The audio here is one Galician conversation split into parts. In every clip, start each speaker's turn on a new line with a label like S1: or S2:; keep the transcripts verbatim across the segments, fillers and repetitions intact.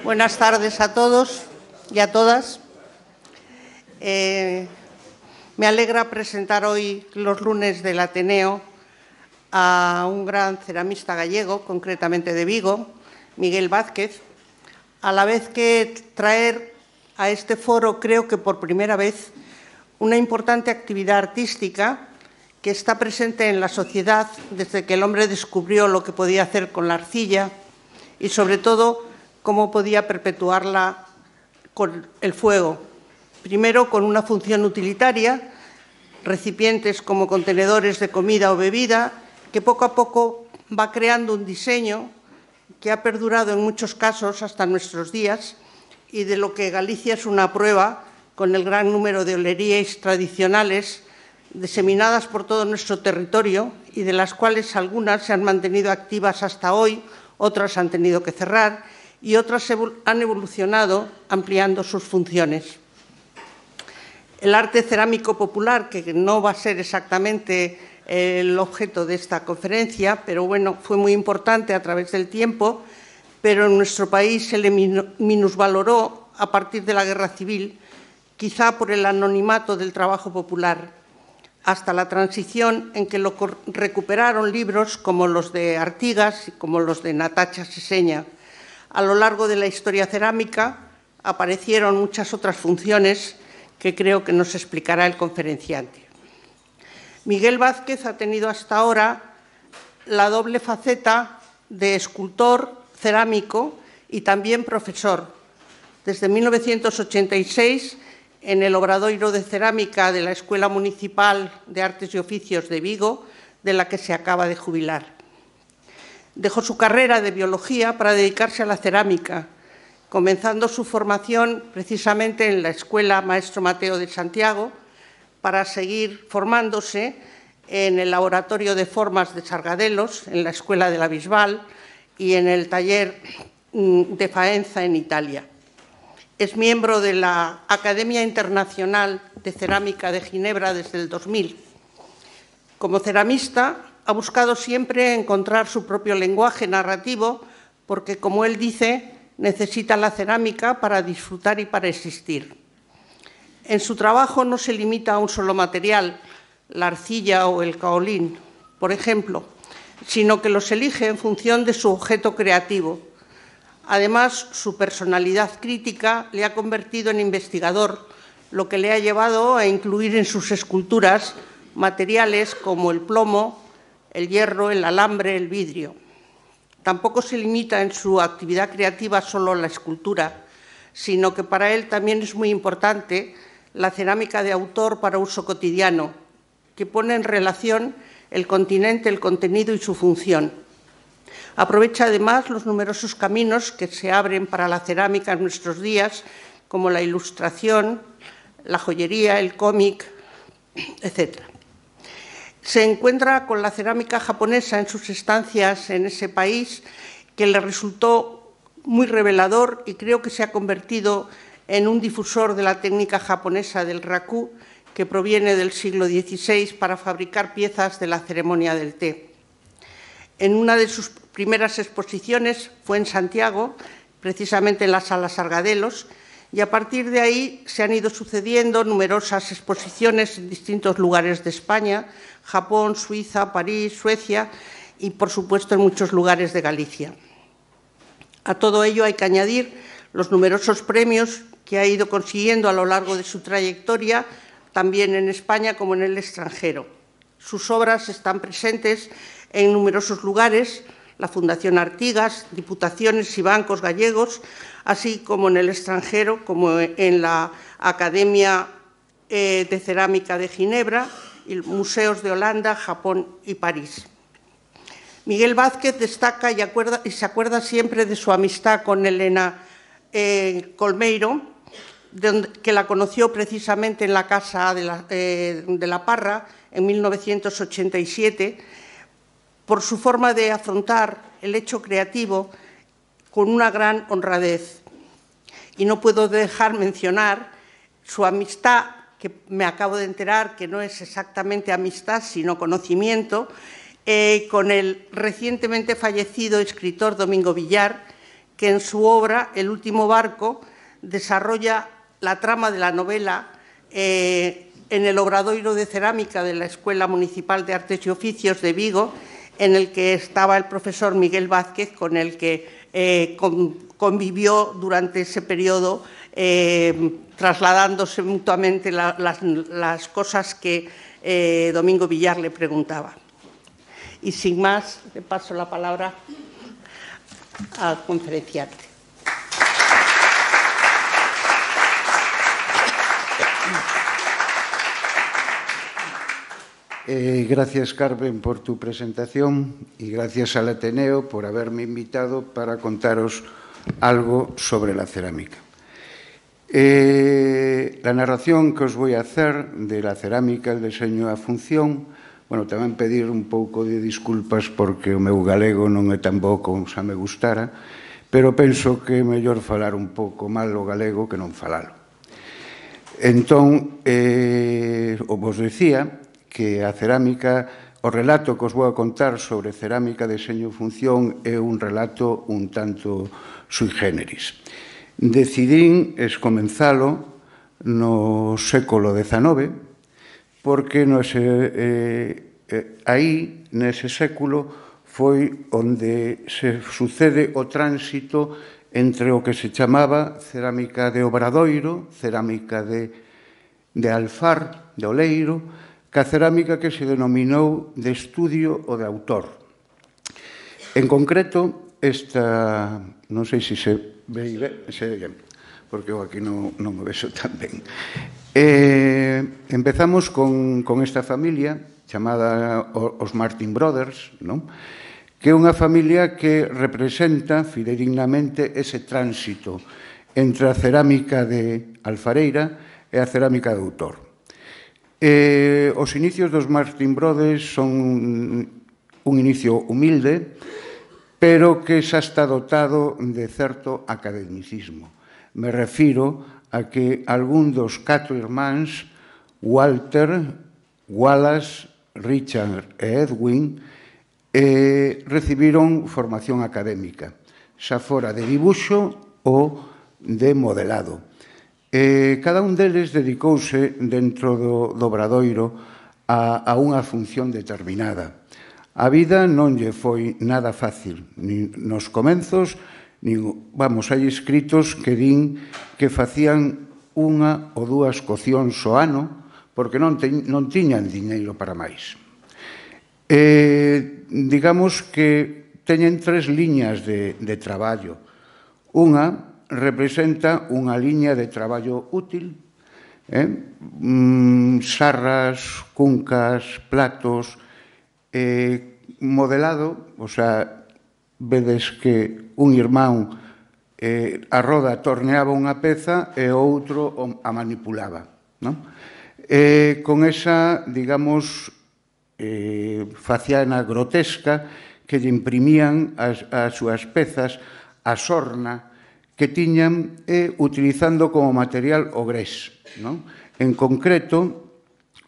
S1: Buenas tardes a todos y a todas. Eh, me alegra presentar hoy, los lunes del Ateneo, a un gran ceramista gallego, concretamente de Vigo, Miguel Vázquez, a la vez que traer a este foro, creo que por primera vez, una importante actividad artística que está presente en la sociedad desde que el hombre descubrió lo que podía hacer con la arcilla y, sobre todo, cómo podía perpetuarla con el fuego. Primero, con una función utilitaria, recipientes como contenedores de comida o bebida, que poco a poco va creando un diseño que ha perdurado en muchos casos hasta nuestros días y de lo que Galicia es una prueba con el gran número de olerías tradicionales diseminadas por todo nuestro territorio y de las cuales algunas se han mantenido activas hasta hoy, otras han tenido que cerrar y otras han evolucionado ampliando sus funciones. El arte cerámico popular, que no va a ser exactamente el objeto de esta conferencia, pero bueno, fue muy importante a través del tiempo, pero en nuestro país se le minusvaloró a partir de la Guerra Civil, quizá por el anonimato del trabajo popular, hasta la transición en que lo recuperaron libros como los de Artigas y como los de Natacha Seseña. A lo largo de la historia cerámica aparecieron muchas otras funciones que creo que nos explicará el conferenciante. Miguel Vázquez ha tenido hasta ahora la doble faceta de escultor cerámico y también profesor. Desde mil novecientos ochenta y seis, en el Obradoiro de Cerámica de la Escuela Municipal de Artes y Oficios de Vigo, de la que se acaba de jubilar. Dejó su carrera de biología para dedicarse a la cerámica, comenzando su formación precisamente en la Escuela Maestro Mateo de Santiago, para seguir formándose en el Laboratorio de Formas de Sargadelos, en la Escuela de la Bisbal y en el taller de Faenza en Italia. Es miembro de la Academia Internacional de Cerámica de Ginebra desde el dos mil. Como ceramista, ha buscado siempre encontrar su propio lenguaje narrativo porque, como él dice, necesita la cerámica para disfrutar y para existir. En su trabajo no se limita a un solo material, la arcilla o el caolín, por ejemplo, sino que los elige en función de su objeto creativo. Además, su personalidad crítica le ha convertido en investigador, lo que le ha llevado a incluir en sus esculturas materiales como el plomo, el hierro, el alambre, el vidrio. Tampoco se limita en su actividad creativa solo a la escultura, sino que para él también es muy importante la cerámica de autor para uso cotidiano, que pone en relación el continente, el contenido y su función. Aprovecha además los numerosos caminos que se abren para la cerámica en nuestros días, como la ilustración, la joyería, el cómic, etcétera. Se encuentra con la cerámica japonesa en sus estancias en ese país, que le resultó muy revelador y creo que se ha convertido en un difusor de la técnica japonesa del raku, que proviene del siglo dieciséis para fabricar piezas de la ceremonia del té. En una de sus primeras exposiciones fue en Santiago, precisamente en la Sala Sargadelos, y a partir de ahí se han ido sucediendo numerosas exposiciones en distintos lugares de España, Japón, Suiza, París, Suecia y, por supuesto, en muchos lugares de Galicia. A todo ello hay que añadir los numerosos premios que ha ido consiguiendo a lo largo de su trayectoria, también en España como en el extranjero. Sus obras están presentes en numerosos lugares, la Fundación Artigas, diputaciones y bancos gallegos, así como en el extranjero, como en la Academia de Cerámica de Ginebra, y museos de Holanda, Japón y París. Miguel Vázquez destaca y, acuerda, y se acuerda siempre de su amistad con Elena eh, Colmeiro, de, que la conoció precisamente en la Casa de la, eh, de la Parra en mil novecientos ochenta y siete, por su forma de afrontar el hecho creativo con una gran honradez. Y no puedo dejar mencionar su amistad, que me acabo de enterar que no es exactamente amistad, sino conocimiento, eh, con el recientemente fallecido escritor Domingo Villar, que en su obra El último barco desarrolla la trama de la novela eh, en el Obradoiro de Cerámica de la Escuela Municipal de Artes y Oficios de Vigo, en el que estaba el profesor Miguel Vázquez, con el que eh, con, convivió durante ese periodo, eh, trasladándose mutuamente la, las, las cosas que eh, Domingo Villar le preguntaba. Y sin más, le paso la palabra al conferenciante.
S2: Eh, gracias, Carmen, por tu presentación y gracias al Ateneo por haberme invitado para contaros algo sobre la cerámica. Eh, la narración que os voy a hacer de la cerámica, el diseño e a función, bueno, tamén pedir un pouco de disculpas porque o meu galego non é tan bo como xa me gustara, pero penso que é mellor falar un pouco mal o galego que non falalo. Entón, eh, o vos decía que a cerámica, o relato que os vou a contar sobre cerámica, deseño e función é un relato un tanto sui generis. Decidín escomenzalo no século dezanove porque no ese, eh, eh, aí, nese século, foi onde se sucede o tránsito entre o que se chamaba cerámica de Obradoiro, cerámica de, de Alfar, de Oleiro, que a cerámica que se denominou de estudio ou de autor. En concreto, esta, non sei se se ve, se ve porque eu aquí non, non o vexo tan ben. Eh, empezamos con, con esta familia chamada os Martin Brothers, non? Que é unha familia que representa fidedignamente ese tránsito entre a cerámica de alfareira e a cerámica de autor. Eh, os inicios dos Martin Brothers son un inicio humilde, pero que xa está dotado de certo academicismo. Me refiro a que algún dos catro irmáns, Walter, Wallace, Richard e Edwin, eh, recibiron formación académica, xa fora de dibuixo ou de modelado. Eh, cada un deles dedicouse dentro do, do Obradoiro a, a unha función determinada. A vida non lle foi nada fácil, ni nos comenzos, ni, vamos, hai escritos que din que facían unha ou dúas cocións ao ano porque non, te, non tiñan diñeiro para máis. Eh, digamos que teñen tres liñas de, de traballo. Unha representa unha liña de traballo útil, eh? mm, sarras, cuncas, platos, eh, modelado, o sea, vedes que un irmán eh, a roda torneaba unha peza e o outro a manipulaba, non? Eh, con esa, digamos, eh, faciana grotesca que lle imprimían as, as súas pezas a sorna que tiñan e utilizando como material o grés, non? En concreto,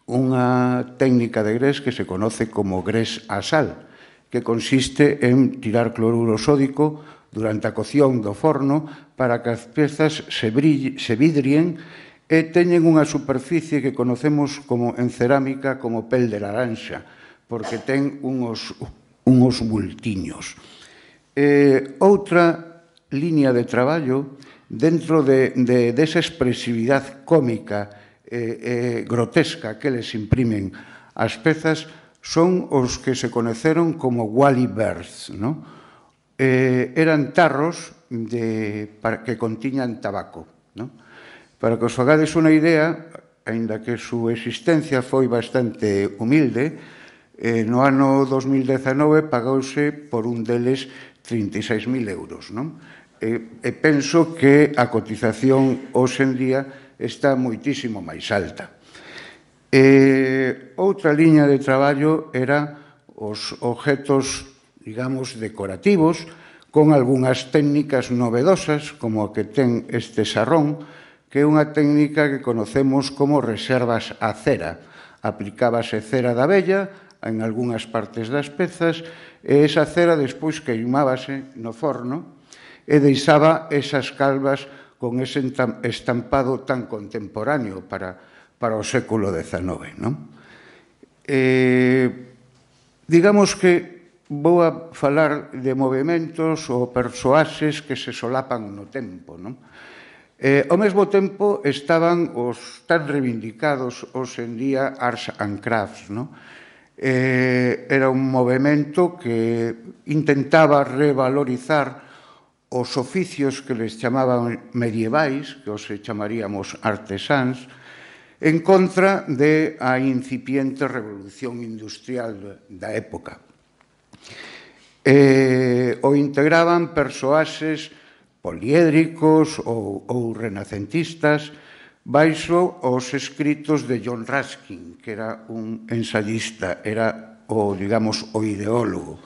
S2: unha técnica de grés que se conoce como grés a sal, que consiste en tirar cloruro sódico durante a cocción do forno para que as pezas se, brille, se vidrien e teñen unha superficie que conocemos como en cerámica como pel de laranxa, porque ten unhos, unhos bultiños. Eh, outra liña de traballo dentro de, de, de esa expresividade cómica e eh, eh, grotesca que les imprimen as pezas son os que se conoceron como Wally Birds, ¿no? Eh, eran tarros de, para, que contiñan tabaco, ¿no? Para que os fagades unha idea, aínda que a súa existencia foi bastante humilde, eh, no ano dos mil dezanove pagouse por un deles trinta e seis mil euros, non? E, e penso que a cotización hoxe en día está moitísimo máis alta. E, outra liña de traballo era os objetos, digamos, decorativos, con algunhas técnicas novedosas, como a que ten este sarrón, que é unha técnica que conocemos como reservas a cera. Aplicábase cera da abella en algunhas partes das pezas e esa cera despois queimábase no forno e deixaba esas calvas con ese estampado tan contemporáneo para, para o século dezenove, non? Eh, digamos que vou a falar de movimentos ou persoaxes que se solapan no tempo, non? Eh, ao mesmo tempo estaban os tan reivindicados hoxe en día Arts and Crafts, non? Eh, era un movimento que intentaba revalorizar os oficios que les chamaban medievais, que os chamaríamos artesáns, en contra de a incipiente revolución industrial da época. Eh, o integraban persoaxes poliédricos ou, ou renacentistas baixo os escritos de John Ruskin, que era un ensayista, era o, digamos, o ideólogo.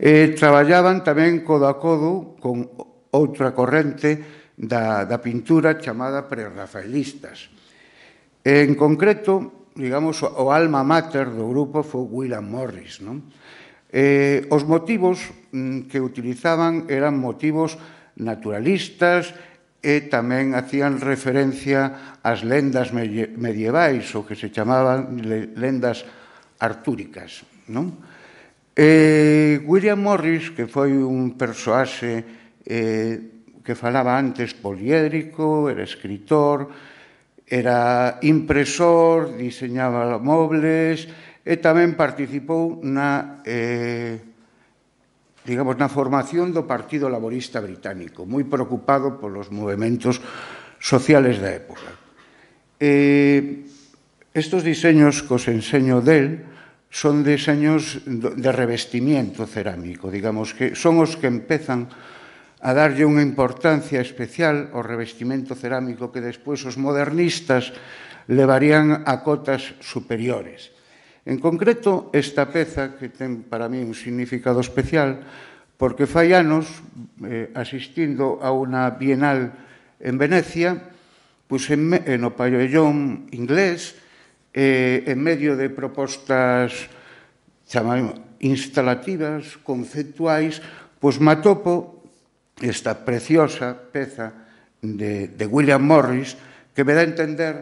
S2: E traballaban tamén codo a codo con outra corrente da, da pintura chamada prerrafaelistas. En concreto, digamos, o alma mater do grupo foi William Morris, non? Eh, os motivos que utilizaban eran motivos naturalistas e tamén hacían referencia ás lendas medievais, o que se chamaban lendas artúricas, non? Eh, William Morris, que foi un persoaxe eh, que falaba antes poliédrico, era escritor, era impresor, diseñaba mobles e tamén participou na, eh, digamos, na formación do Partido Laborista Británico, moi preocupado polos movimentos sociales da época. Eh, estos diseños que os enseño del son diseños de revestimiento cerámico, digamos que son os que empezan a darlle unha importancia especial ao revestimento cerámico que despois os modernistas levarían a cotas superiores. En concreto, esta peza, que ten para mí un significado especial, porque fai anos, eh, asistindo a unha bienal en Venecia, pois en, no pabellón inglés, eh, en medio de propostas chamamos instalativas, conceptuais, pois me atopo esta preciosa peza de, de William Morris que me dá a entender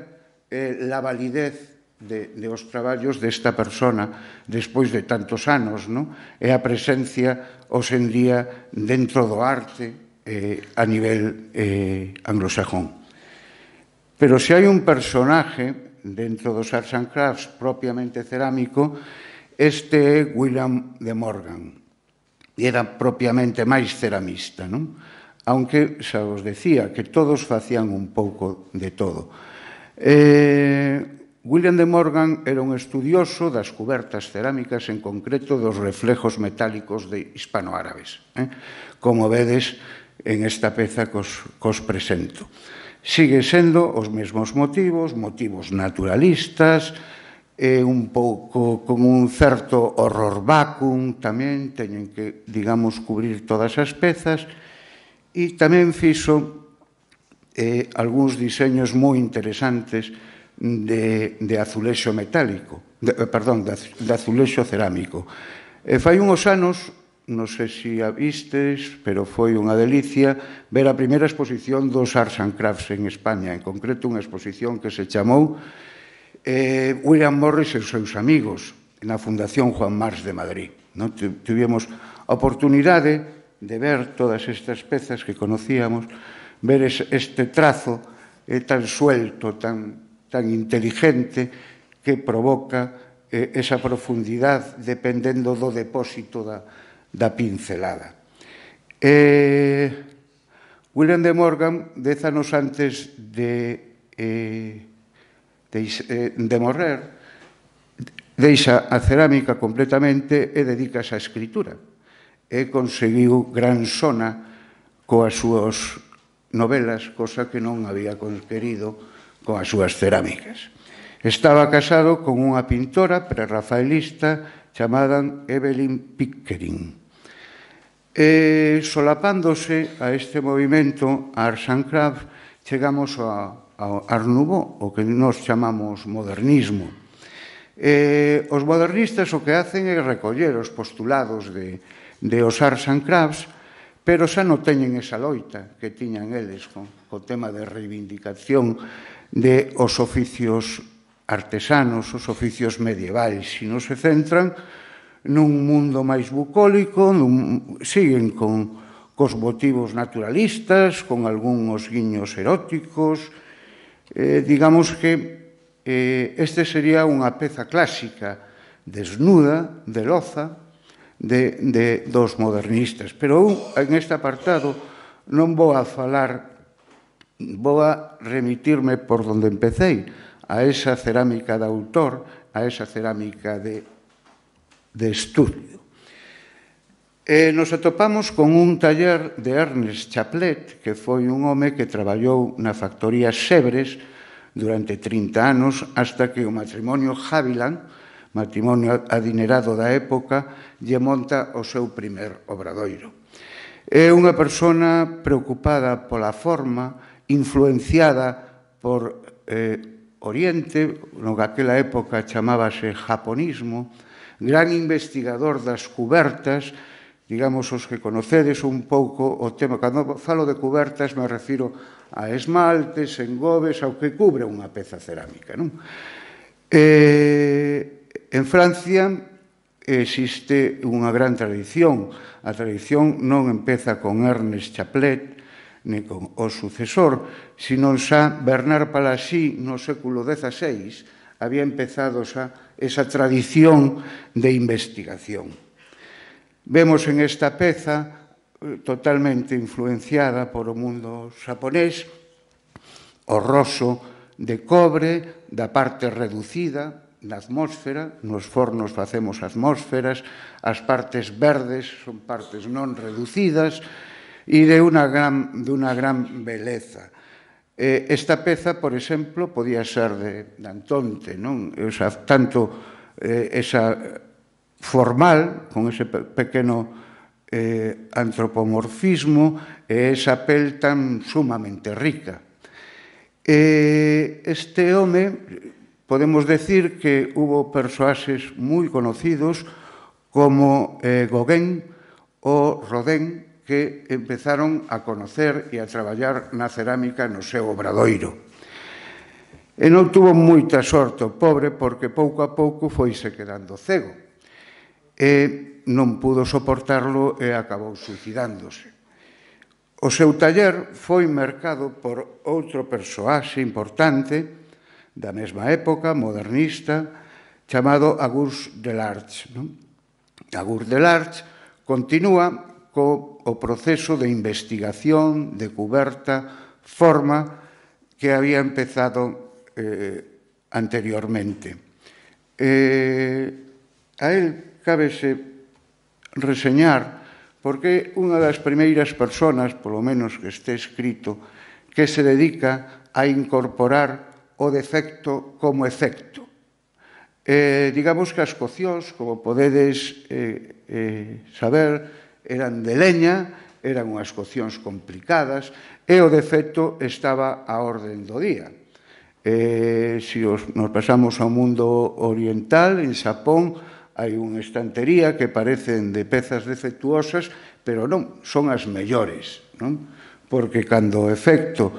S2: eh, la validez de, de os traballos desta persona despois de tantos anos, non? E a presencia hoxe en día dentro do arte eh, a nivel eh, anglosajón. Pero se hai un personaje dentro dos Arts and Crafts propiamente cerámico, este é William de Morgan. Era propiamente máis ceramista, non? Aunque xa os decía que todos facían un pouco de todo. Eh, William de Morgan era un estudioso das cubertas cerámicas, en concreto dos reflejos metálicos de hispanoárabes, eh? Como vedes en esta peza que os, que os presento. Sigue sendo os mesmos motivos, motivos naturalistas, e un pouco con un certo horror vacuum tamén, teñen que, digamos, cubrir todas as pezas, e tamén fixo eh, algúns diseños moi interesantes de, de azulexo metálico, de, perdón, de, de azulexo cerámico. E fai unhos anos, non sei se a vistes, pero foi unha delicia ver a primeira exposición dos Arts and Crafts en España, en concreto unha exposición que se chamou eh, William Morris e os seus amigos, na Fundación Juan Mars de Madrid. Non? Tivemos a oportunidade de ver todas estas pezas que conocíamos, ver este trazo eh, tan suelto, tan, tan inteligente, que provoca eh, esa profundidade dependendo do depósito da da pincelada. Eh, William de Morgan, dez anos antes de, eh, de, de morrer, deixa a cerámica completamente e dedícase á escritura. E conseguiu gran sona coas súas novelas, cosa que non había conquerido coas súas cerámicas. Estaba casado con unha pintora prerrafaelista chamada Evelyn Pickering. E, solapándose a este movimento Arts and Crafts, chegamos ao Art Nouveau, o que nos chamamos modernismo. E, os modernistas o que hacen é recoller os postulados de, de os Arts and Crafts, pero xa non teñen esa loita que tiñan eles con o tema de reivindicación de os oficios artesanos, os oficios medievais, sino se centran nun mundo máis bucólico, nun, siguen con cos motivos naturalistas, con algúns guiños eróticos. Eh, digamos que eh, este sería unha peza clásica, desnuda, de loza, de, de, dos modernistas. Pero eu, en este apartado, non vou a falar, vou a remitirme por donde empecéi, a esa cerámica de autor, a esa cerámica de, de estudio. E nos atopamos con un taller de Ernest Chaplet, que foi un home que traballou na factoría Sebres durante trinta anos, hasta que o matrimonio Haviland, matrimonio adinerado da época, lle monta o seu primer obradoiro. É unha persona preocupada pola forma, influenciada por eh, Oriente, no que aquela época chamábase japonismo, gran investigador das cubertas, digamos, os que conocedes un pouco o tema. Cando falo de cubertas me refiro a esmaltes, engobes, ao que cubre unha peza cerámica, non? Eh, en Francia existe unha gran tradición. A tradición non empeza con Ernest Chaplet, ni con o sucesor, sino xa Bernard Palissy no século dezaseis había empezado xa esa tradición de investigación. Vemos en esta peza totalmente influenciada por o mundo xaponés, o roso de cobre da parte reducida na atmósfera, nos fornos facemos atmósferas, as partes verdes son partes non reducidas e de unha gran, de unha gran beleza. Eh, esta peza, por exemplo, podía ser de, de Antonte, non? O sea, tanto eh, esa formal, con ese pequeno eh, antropomorfismo e esa pel tan sumamente rica. Eh, este home, podemos decir que hubo persoaxes moi conocidos como eh, Gauguin ou Rodin, que empezaron a conocer e a traballar na cerámica no seu obradoiro. E non tuvo moita sorte o pobre, porque pouco a pouco foise quedando cego. E non pudo soportarlo e acabou suicidándose. O seu taller foi mercado por outro persoaxe importante da mesma época, modernista, chamado Auguste Delarge. Auguste Delarge continúa co o proceso de investigación, de cuberta, forma que había empezado eh, anteriormente. Eh, a él cábese reseñar porque unha das primeiras persoas, polo menos que este escrito, que se dedica a incorporar o defecto como efecto. Eh, digamos que as coccións, como podedes eh, eh, saber, eran de leña, eran unhas coccións complicadas, e o defecto estaba á orden do día. Eh, se os, nos pasamos ao mundo oriental, en Xapón, hai unha estantería que parecen de pezas defectuosas, pero non, son as mellores, non? Porque cando o efecto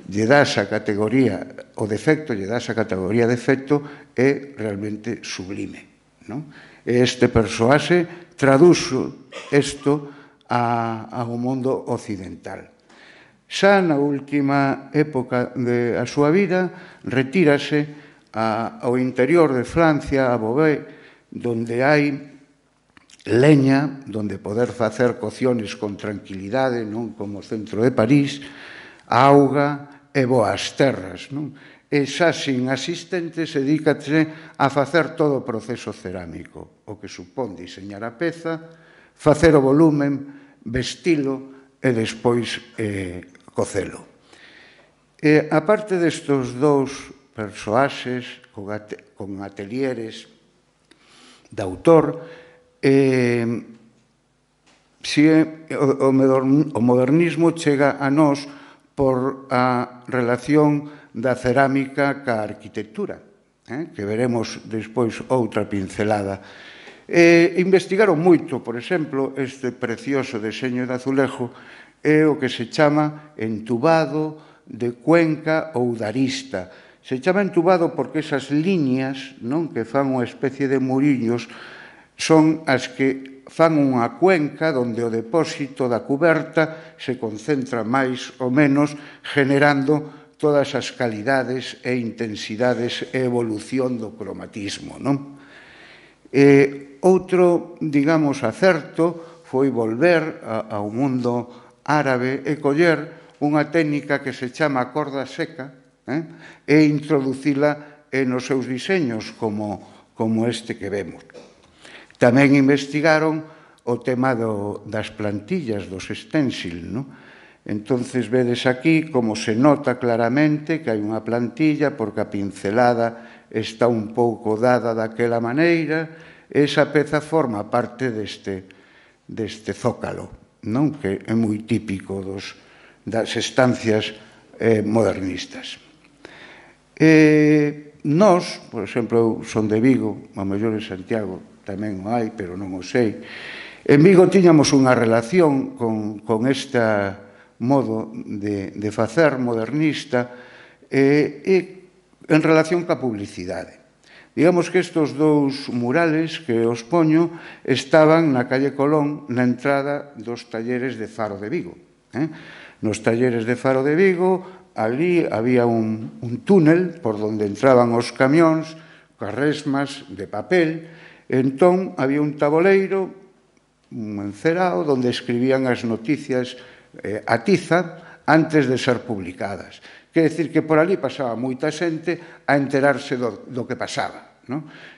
S2: lle das a categoría, o defecto lle das a categoría de efecto, é realmente sublime, non? E este persoaxe traduxo isto ao mundo occidental. Xa na última época da súa vida, retírase ao interior de Francia, a Beauvais, donde hai leña, donde poder facer coccións con tranquilidade, non como o centro de París, auga e boas terras, non? E xa sin asistentes dedícase a facer todo o proceso cerámico, o que supón diseñar a peza, facer o volumen, vestilo e despois eh, cocelo. E aparte destos dous persoaxes con, at con atelieres de autor, eh, si o, o modernismo chega a nós por a relación da cerámica ca arquitectura, eh, que veremos despois outra pincelada. E investigaron moito, por exemplo, este precioso deseño de azulejo é o que se chama entubado de cuenca ou de arista. Se chama entubado porque esas liñas, non, que fan unha especie de murillos son as que fan unha cuenca onde o depósito da cuberta se concentra máis ou menos generando todas as calidades e intensidades e evolución do cromatismo, non? E outro, digamos, acerto foi volver ao mundo árabe e coller unha técnica que se chama corda seca e introducila nos seus diseños como este que vemos. Tamén investigaron o tema das plantillas, dos stencil, non? Entonces, vedes aquí como se nota claramente que hai unha plantilla porque a pincelada está un pouco dada daquela maneira, esa peza forma parte deste zócalo, non? Que é moi típico das estancias modernistas. Nós, por exemplo, eu son de Vigo, a mellor en Santiago tamén o hai, pero non o sei. En Vigo tiñamos unha relación con este modo de facer modernista e en relación ca publicidade. Digamos que estes dous murales que os poño estaban na calle Colón, na entrada dos talleres de Faro de Vigo. Nos talleres de Faro de Vigo, ali había un túnel por onde entraban os camións, coas resmas de papel, entón había un taboleiro, un encerao, onde escribían as noticias a tiza antes de ser publicadas. Quer dicir que por ali pasaba moita xente a enterarse do que pasaba.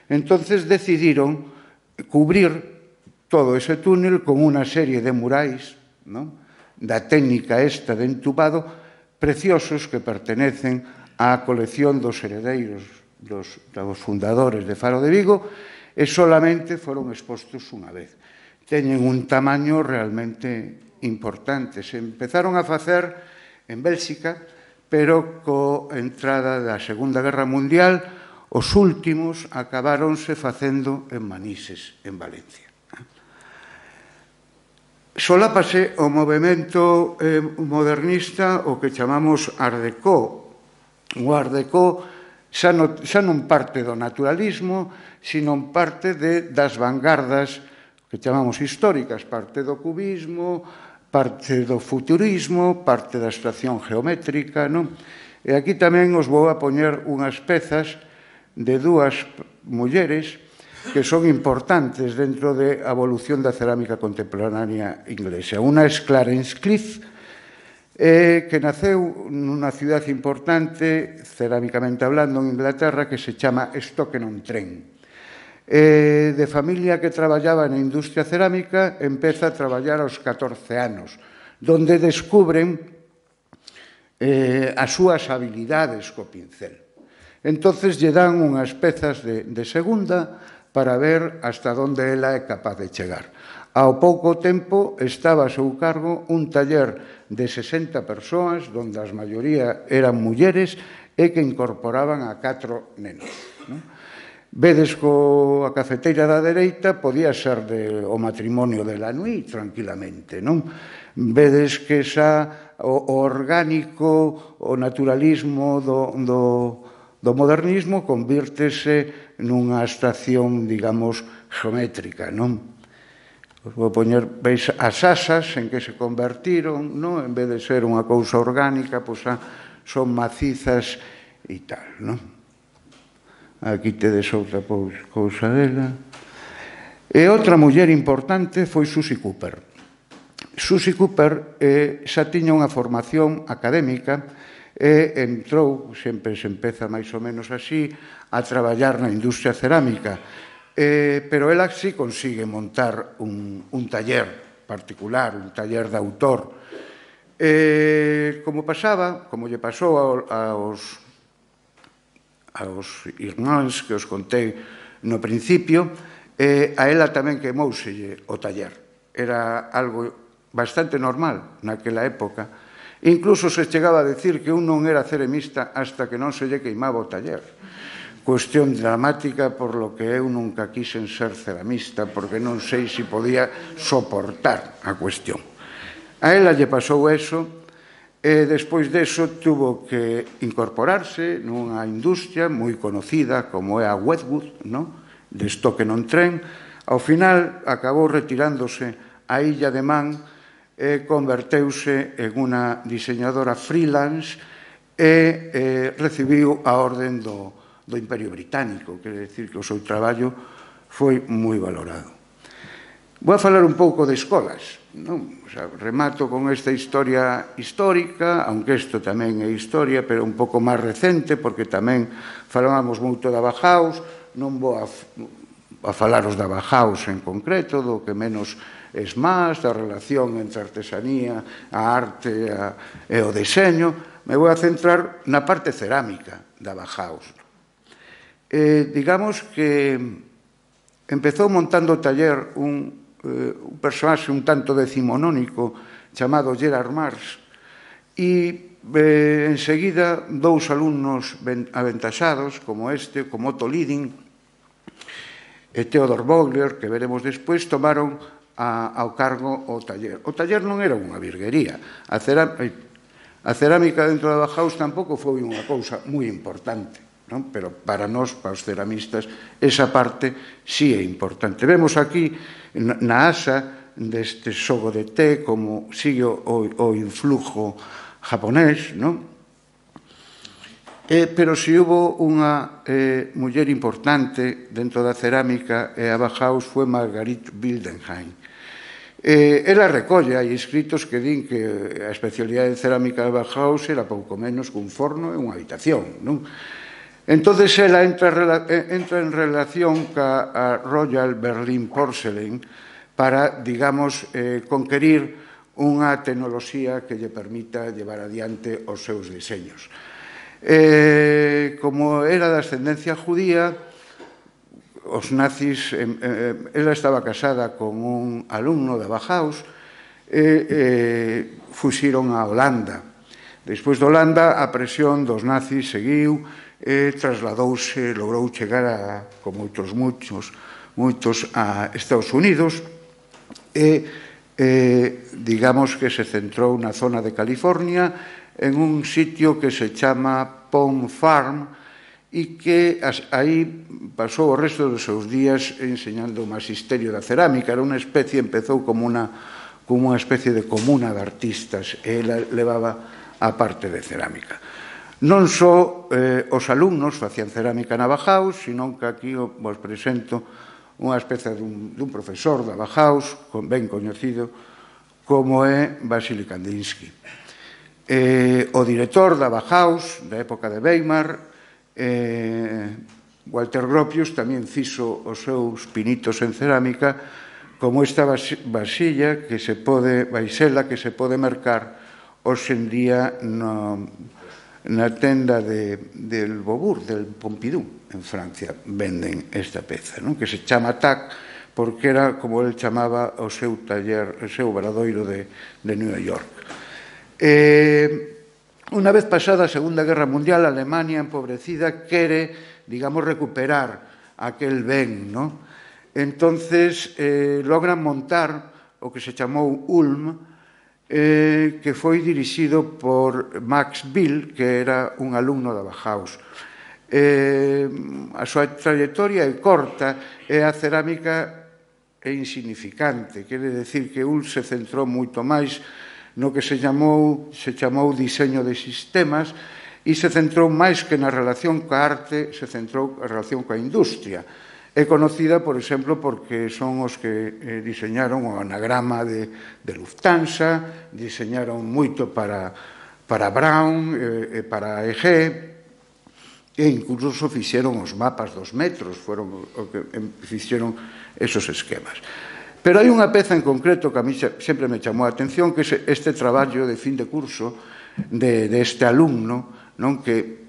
S2: Entonces decidiron cubrir todo ese túnel con unha serie de murais da técnica esta de entubado preciosos que pertenecen á colección dos heredeiros dos fundadores de Faro de Vigo e solamente foron expostos unha vez. Teñen un tamaño realmente importante. Se empezaron a facer en Bélxica, pero coa entrada da Segunda Guerra Mundial, os últimos acabáronse facendo en Manises, en Valencia. Solápase o movimento modernista o que chamamos Art Deco. O Art Deco xa non parte do naturalismo, sino parte das vanguardas que chamamos históricas, parte do cubismo, parte do futurismo, parte da abstracción geométrica, non? E aquí tamén os vou a poñer unhas pezas de dúas mulleres que son importantes dentro da evolución da cerámica contemporánea inglesa. Unha é Clarence Cliff, que naceu nunha cidade importante, cerámicamente hablando, en Inglaterra, que se chama Stoke-on-Trent. De familia que traballaba na industria cerámica, empeza a traballar aos catorce anos, donde descubren as súas habilidades co pincel. Entonces lle dan unhas pezas de segunda para ver hasta onde ela é capaz de chegar. Ao pouco tempo estaba a seu cargo un taller de sesenta persoas, onde a maioría eran mulleres e que incorporaban a catro nenos. Vedes coa cafeteira da dereita podía ser o matrimonio de Lanui tranquilamente, non? Vedes que xa o orgánico, o naturalismo do modernismo convírtese nunha abstracción, digamos, geométrica, non? Vou poñer, veis, as asas en que se convertiron, non? En vez de ser unha cousa orgánica, pois son macizas e tal, non? Aquí tedes outra cousa dela. E outra muller importante foi Susie Cooper. Susie Cooper xa tiña unha formación académica e entrou, sempre se empeza máis ou menos así, a traballar na industria cerámica. Pero ela sí consigue montar un taller particular, un taller de autor. Como pasaba, como lle pasou aos aos irmáns que os contei no principio, a ela tamén quemouselle o taller. Era algo bastante normal naquela época. Incluso se chegaba a decir que un non era ceramista hasta que non se lle queimaba o taller. cuestión dramática por lo que eu nunca quixen ser ceramista, porque non sei se podía soportar a cuestión. A ela lle pasou eso, e despois deso tuvo que incorporarse nunha industria moi conocida como é a Wedgwood, de Stoke-on-Trent. Ao final acabou retirándose a Illa de Man e converteuse en unha diseñadora freelance e recibiu a orden do do Imperio Británico, quere dicir que o seu traballo foi moi valorado. Vou a falar un pouco de escolas, non? O sea, remato con esta historia histórica, aunque isto tamén é historia, pero un pouco máis recente, porque tamén falábamos moito da Bauhaus, non vou a, a falaros da Bauhaus en concreto, do que menos es máis, da relación entre a artesanía, a arte a, e o deseño. Me vou a centrar na parte cerámica da Bauhaus. Eh, digamos que empezou montando o taller un, eh, un personaxe un tanto decimonónico chamado Gerard Mars e eh, enseguida dous alumnos aventaxados como este, como Otto Liding e Theodor Vogler, que veremos despois, tomaron a, ao cargo o taller. O taller non era unha virguería. A, ceram a cerámica dentro da Bauhaus tampouco foi unha cousa moi importante. Non? Pero para nós, para os ceramistas, esa parte sí é importante. Vemos aquí na asa deste xogo de té como sigue o, o influjo japonés, non? Eh, pero se hubo unha eh, muller importante dentro da cerámica e a Bauhaus foi Marguerite Wildenhain. Eh, ela recolle, hai escritos que din que a especialidade de cerámica da Bauhaus era pouco menos que un forno e unha habitación, non? Entonces ela entra, entra en relación ca Royal Berlin Porcelain para, digamos, eh, conquerir unha tecnoloxía que lle permita llevar adiante os seus diseños. Eh, como era de ascendencia judía, os nazis, eh, eh, ela estaba casada con un alumno da Bauhaus e eh, fuxiron a Holanda. Despois de Holanda, a presión dos nazis seguiu e trasladouse, logrou chegar a, como outros muchos, moitos a Estados Unidos e, eh, digamos que se centrou na zona de California en un sitio que se chama Palm Farm e que as, aí pasou o resto dos seus días enseñando o magisterio da cerámica. Era unha especie, empezou como unha, como unha especie de comuna de artistas e ela levaba a parte de cerámica. Non só eh, os alumnos facían cerámica na Bauhaus, sino que aquí vos presento unha especie dun, dun profesor da Bauhaus, ben coñecido, como é Vasily Kandinsky. Eh, o director da Bauhaus, da época de Weimar, eh, Walter Gropius, tamén fixo os seus pinitos en cerámica, como esta vasilla que se pode, vaisela que se pode mercar hoxe en día no... na tenda de, del Beaubourg, del Pompidou, en Francia, venden esta peza, non? Que se chama Tac, porque era, como ele chamaba, o seu taller, o seu obradoiro de, de New York. Eh, unha vez pasada a Segunda Guerra Mundial, a Alemania, empobrecida, quere, digamos, recuperar aquel ben, non? Entonces, eh, logran montar o que se chamou Ulm, Eh, que foi dirixido por Max Bill, que era un alumno da Bauhaus. Eh, a súa trayectoria é corta e a cerámica é insignificante. Quere decir que Ulm se centrou moito máis no que se chamou, se chamou diseño de sistemas e se centrou máis que na relación coa arte, se centrou na relación coa industria. É conocida, por exemplo, porque son os que eh, diseñaron o anagrama de, de Lufthansa, diseñaron moito para, para Brown e eh, para E G, e incluso fixeron os mapas dos metros, foron o que fixeron esos esquemas. Pero hai unha peza en concreto que a mí sempre me chamou a atención, que é este traballo de fin de curso de, de este alumno, non, que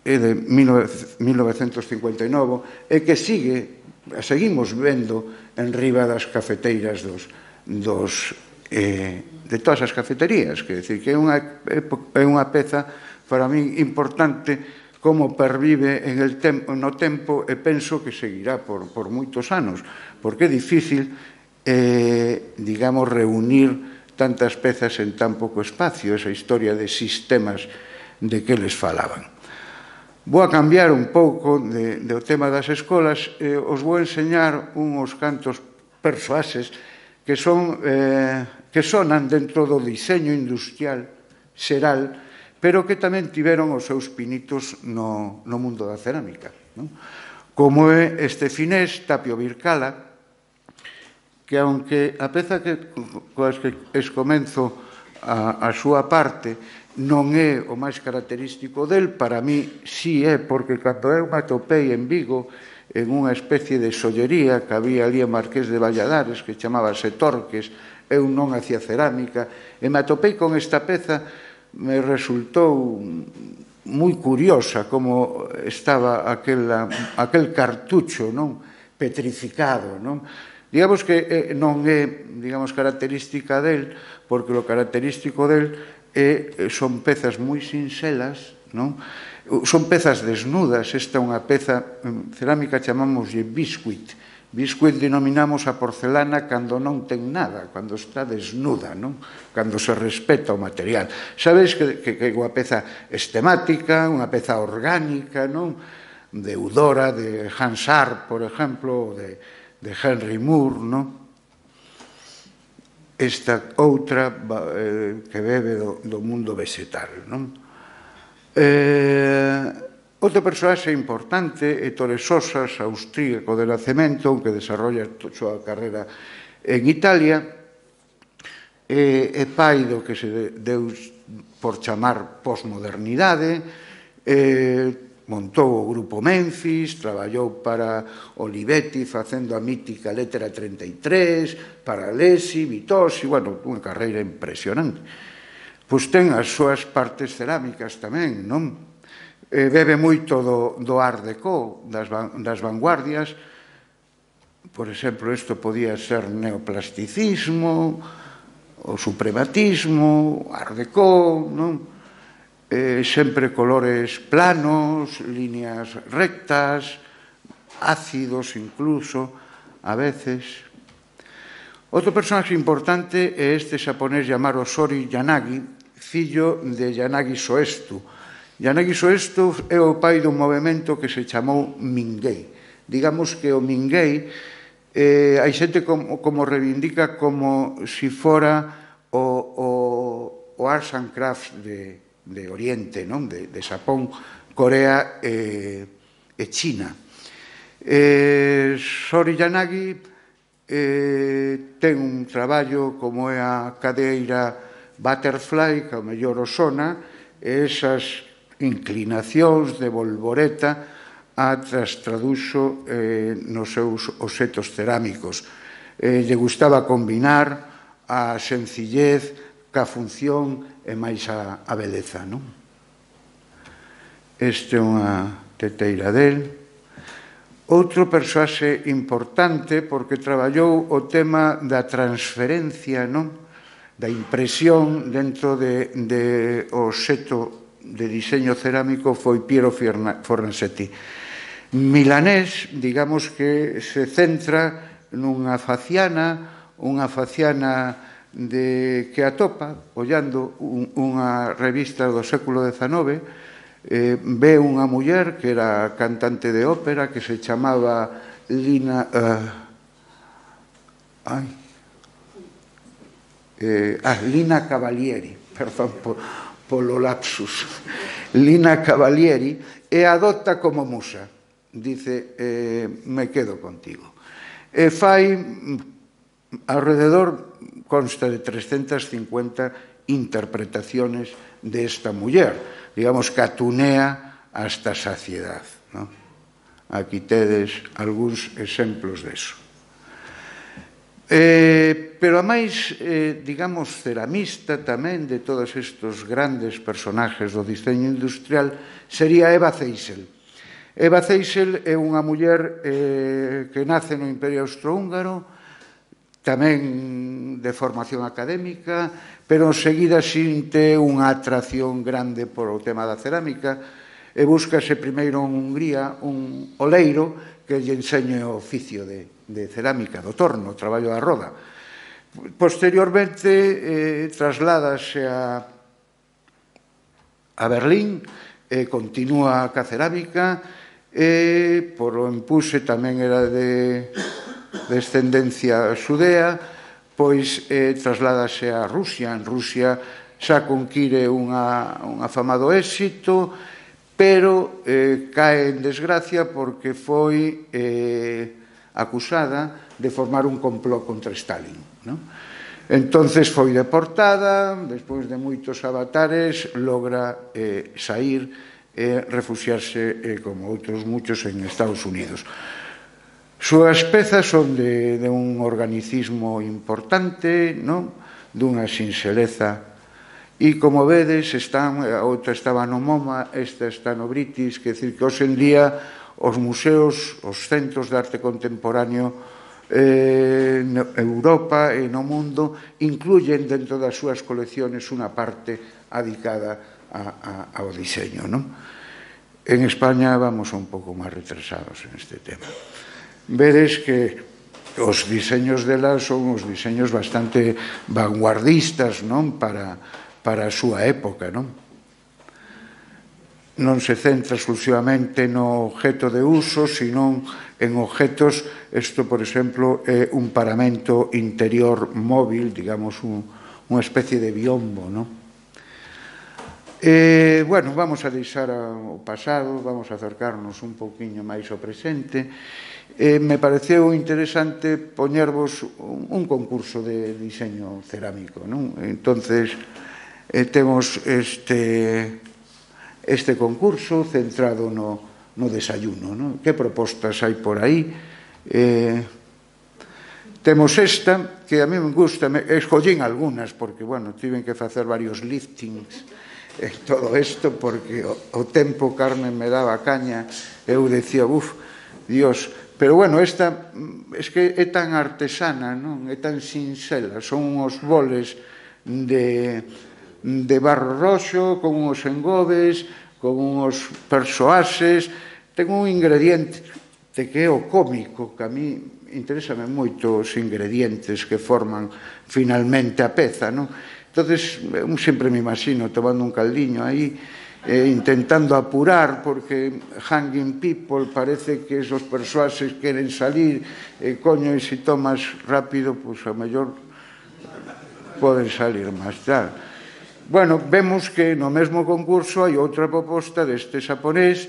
S2: é de mil novecentos cincuenta e nove e que sigue, seguimos vendo en riba das cafeteiras dos, dos, eh, de todas as cafeterías, que decir que é unha, é unha peza para mí importante como pervive en el tempo, no tempo, e penso que seguirá por, por moitos anos, porque é difícil, eh, digamos, reunir tantas pezas en tan pouco espacio, esa historia de sistemas de que les falaban. Vou a cambiar un pouco de, de o tema das escolas e eh, os vou enseñar uns cantos persoaxes que son eh, que sonan dentro do diseño industrial xeral, pero que tamén tiveron os seus pinitos no, no mundo da cerámica, non? Como é este finés, Tapio Bircala, que aunque a peza que, coas que escomenzo a, a súa parte non é o máis característico del, para mí sí é, porque cando eu me atopei en Vigo en unha especie de sollería que había ali en Marqués de Valladares que chamábase Torques, eu non hacía cerámica, e me atopei con esta peza, me resultou moi curiosa como estaba aquela, aquel cartucho, non, petrificado, non? Digamos que non é, digamos, característica del, porque o característico del é, son pezas moi sinxelas, non? Son pezas desnudas, esta é unha peza, en cerámica chamámoslle biscuit. Biscuit denominamos a porcelana cando non ten nada, cando está desnuda, non? Cando se respeta o material. Sabedes que, que, que é unha peza estemática, unha peza orgánica, non? De Eudora, de Hansard, por exemplo, de, de Henry Moore, non? Esta outra eh, que bebe do, do mundo vegetal, non? Eh, outro persoaxe importante é Ettore Sossas, austríaco de nacemento, que desarrolla a súa carreira en Italia, e, e pai do que se deu por chamar posmodernidade, eh, montou o grupo Memphis, traballou para Olivetti facendo a mítica Lettera treinta e tres, para Lesi, Vitosi, bueno, unha carreira impresionante. Pois ten as súas partes cerámicas tamén, non? Eh, bebe moito do, do Art Deco, das, das vanguardias. Por exemplo, isto podía ser neoplasticismo, o suprematismo, Art Deco, non? Eh, sempre colores planos, líneas rectas, ácidos incluso, a veces. Outro personaxe importante é este xaponés chamado Sori Yanagi, fillo de Yanagi Soestu. Yanagi Soestu é o pai dun movimento que se chamou Mingei. Digamos que o Mingei, eh, hai xente como, como reivindica como si fora o, o, o Arts and Crafts de de Oriente, non? De, de Xapón, Corea e, e China. Eh, Sori Yanagi eh, ten un traballo como é a cadeira Butterfly, que ao mellor o sona, e esas inclinacións de Volvoreta a tras traduxo eh, nos seus obxetos cerámicos. Eh, lle gustaba combinar a sencillez ca función e máis a, a beleza, non? Este é unha teteira del. Outro persoaxe importante porque traballou o tema da transferencia, non? Da impresión dentro de, de o obxeto de diseño cerámico foi Piero Fornasetti. Milanés, digamos que se centra nunha faciana, unha faciana de que atopa, ollando un, unha revista do século dezanove, eh, ve unha muller que era cantante de ópera que se chamaba Lina... Uh, ai, eh, ah, Lina Cavalieri, perdón po, polo lapsus, Lina Cavalieri, e adopta como musa. Dice, eh, me quedo contigo. E fai alrededor... consta de trescentas cincuenta interpretaciones de esta muller, digamos que atunea hasta saciedad, ¿no? Aquí tedes algúns exemplos deso. Eh, pero a máis, eh, digamos, ceramista tamén de todos estes grandes personajes do diseño industrial sería Eva Zeisel. Eva Zeisel é unha muller eh, que nace no Imperio Austrohúngaro, tamén de formación académica, pero enseguida xinte unha atracción grande por o tema da cerámica. e búscase primeiro en Hungría un oleiro que lle enseñe o oficio de, de cerámica, do torno, o traballo da roda. Posteriormente, eh, trasládase a, a Berlín, e continúa ca cerámica, e por o empuse tamén era de descendencia xudea, pois eh, trasládase a Rusia. En Rusia xa conquire unha, un afamado éxito, pero eh, cae en desgracia porque foi eh, acusada de formar un complot contra Stalin, non? Entonces foi deportada, despois de moitos avatares, logra eh, sair e eh, refuxiarse, eh, como outros muchos, en Estados Unidos. Súas pezas son de, de un organicismo importante, non? Dunha sinxeleza. E, como vedes, están, a outra estaba no MoMA, esta está no British, que decir que hoxe en día os museos, os centros de arte contemporáneo eh, en Europa e no mundo incluyen dentro das súas colecciones unha parte adicada a, a, ao diseño, non? En España vamos un pouco máis retrasados en este tema. Vedes que os diseños delas son os diseños bastante vanguardistas, non? Para, para a súa época, non? Non se centra exclusivamente no objeto de uso, sino en objetos, isto, por exemplo, é un paramento interior móvil, digamos, un, unha especie de biombo, non? Eh, bueno, vamos a deixar o pasado, vamos a acercarnos un pouquiño máis ao presente. Eh, me pareceu interesante poñervos un, un concurso de diseño cerámico, non? Entonces, eh, temos este, este concurso centrado no, no desayuno, non? Que propostas hai por aí? Eh, temos esta, que a mí me gusta, me, escollín algunhas, porque, bueno, tiven que facer varios liftings en todo isto, porque o, o tempo, Carmen, me daba caña, eu decía, uf, Dios, pero bueno, esta es que é tan artesana, non? É tan sinxela, son uns boles de, de barro roxo, con uns engobes, con uns persoases, ten un ingrediente que é o cómico, que a mí interésame moito os ingredientes que forman finalmente a peza, non? Entonces, eu sempre me imagino tomando un caldiño aí, eh, intentando apurar, porque hanging people parece que esos persoases queren salir, e eh, coño, e se tomas rápido, pois a mellor poden salir máis tarde. Bueno, vemos que no mesmo concurso hai outra proposta deste xaponés,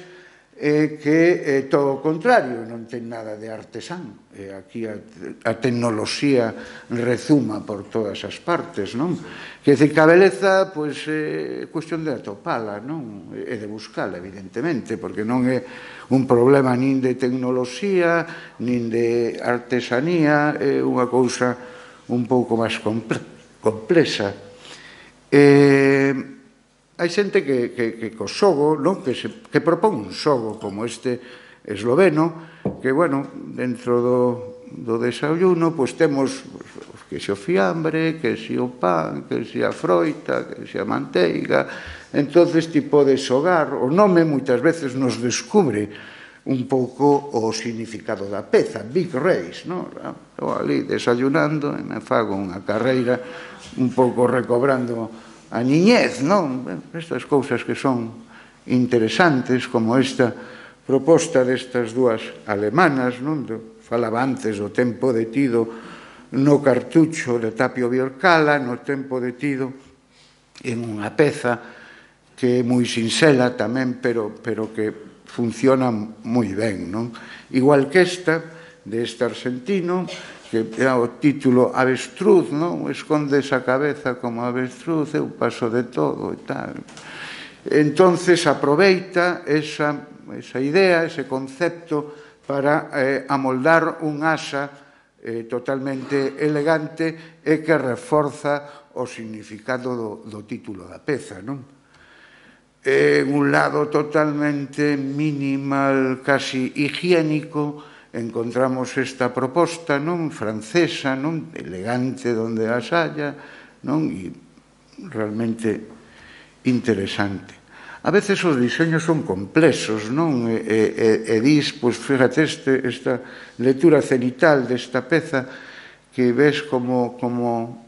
S2: eh, que é todo o contrario, non ten nada de artesán. Eh, aquí a, a tecnoloxía rezuma por todas as partes, non? Que dice que a beleza, pois, é cuestión de atopala, non? E de buscala, evidentemente, porque non é un problema nin de tecnoloxía, nin de artesanía, é unha cousa un pouco máis complexa. Eh... Hai xente que, que, que co xogo, non? Que, se, que propón un xogo como este esloveno, que, bueno, dentro do, do desayuno, pois temos que se o fiambre, que se o pan, que se a froita, que se a manteiga. Entonces, ti podes xogar. O nome, moitas veces, nos descubre un pouco o significado da peza, Big Race, non? Eu ali desayunando e me fago unha carreira un pouco recobrando a niñez, non? Estas cousas que son interesantes, como esta proposta destas dúas alemanas, non? Falaba antes do tempo detido no cartucho de Tapio Biorcala, no tempo detido en unha peza que é moi sinxela tamén, pero, pero que funciona moi ben, non? Igual que esta, deste argentino, que é o título Avestruz, non? Escondes a cabeza como avestruz, eu paso de todo e tal. Entonces aproveita esa, esa idea, ese concepto para eh, amoldar un asa eh, totalmente elegante e que reforza o significado do, do título da peza, non? En un lado totalmente minimal, casi higiénico, encontramos esta proposta, non? Francesa, non? Elegante donde as haya, non? E realmente interesante. a veces os diseños son complexos, non? E, e, e dis, pois, fíjate, este, esta lectura cenital desta peza que ves como, como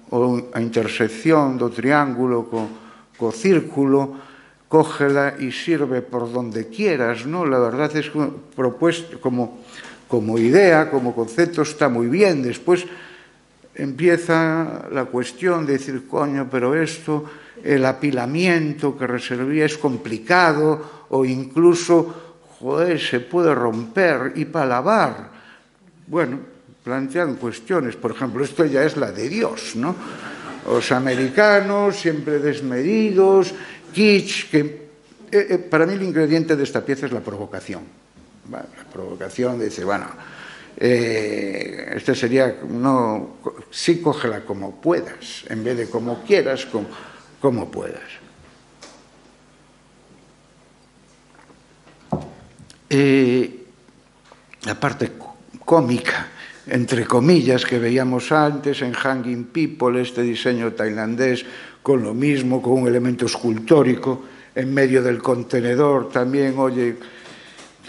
S2: a intersección do triángulo co, co círculo, cógela e sirve por donde quieras, non? La verdad es que propuesto como, como idea, como concepto, está moi bien. Despois empieza la cuestión de decir, coño, pero esto, el apilamiento que reservía es complicado o incluso, joder, se puede romper y para lavar. Bueno, plantean cuestiones, por ejemplo, esto ya es la de Dios, ¿no? Los americanos siempre desmedidos, kitsch, que eh, eh, para mí el ingrediente de esta pieza es la provocación. Bueno, la provocación de decir, bueno, Eh, este sería, no, sí, cógela como puedas, en vez de como quieras, como, como puedas. Eh, la parte cómica, entre comillas, que veíamos antes en Hanging People, este diseño tailandés, con lo mismo, con un elemento escultórico en medio del contenedor, también, oye,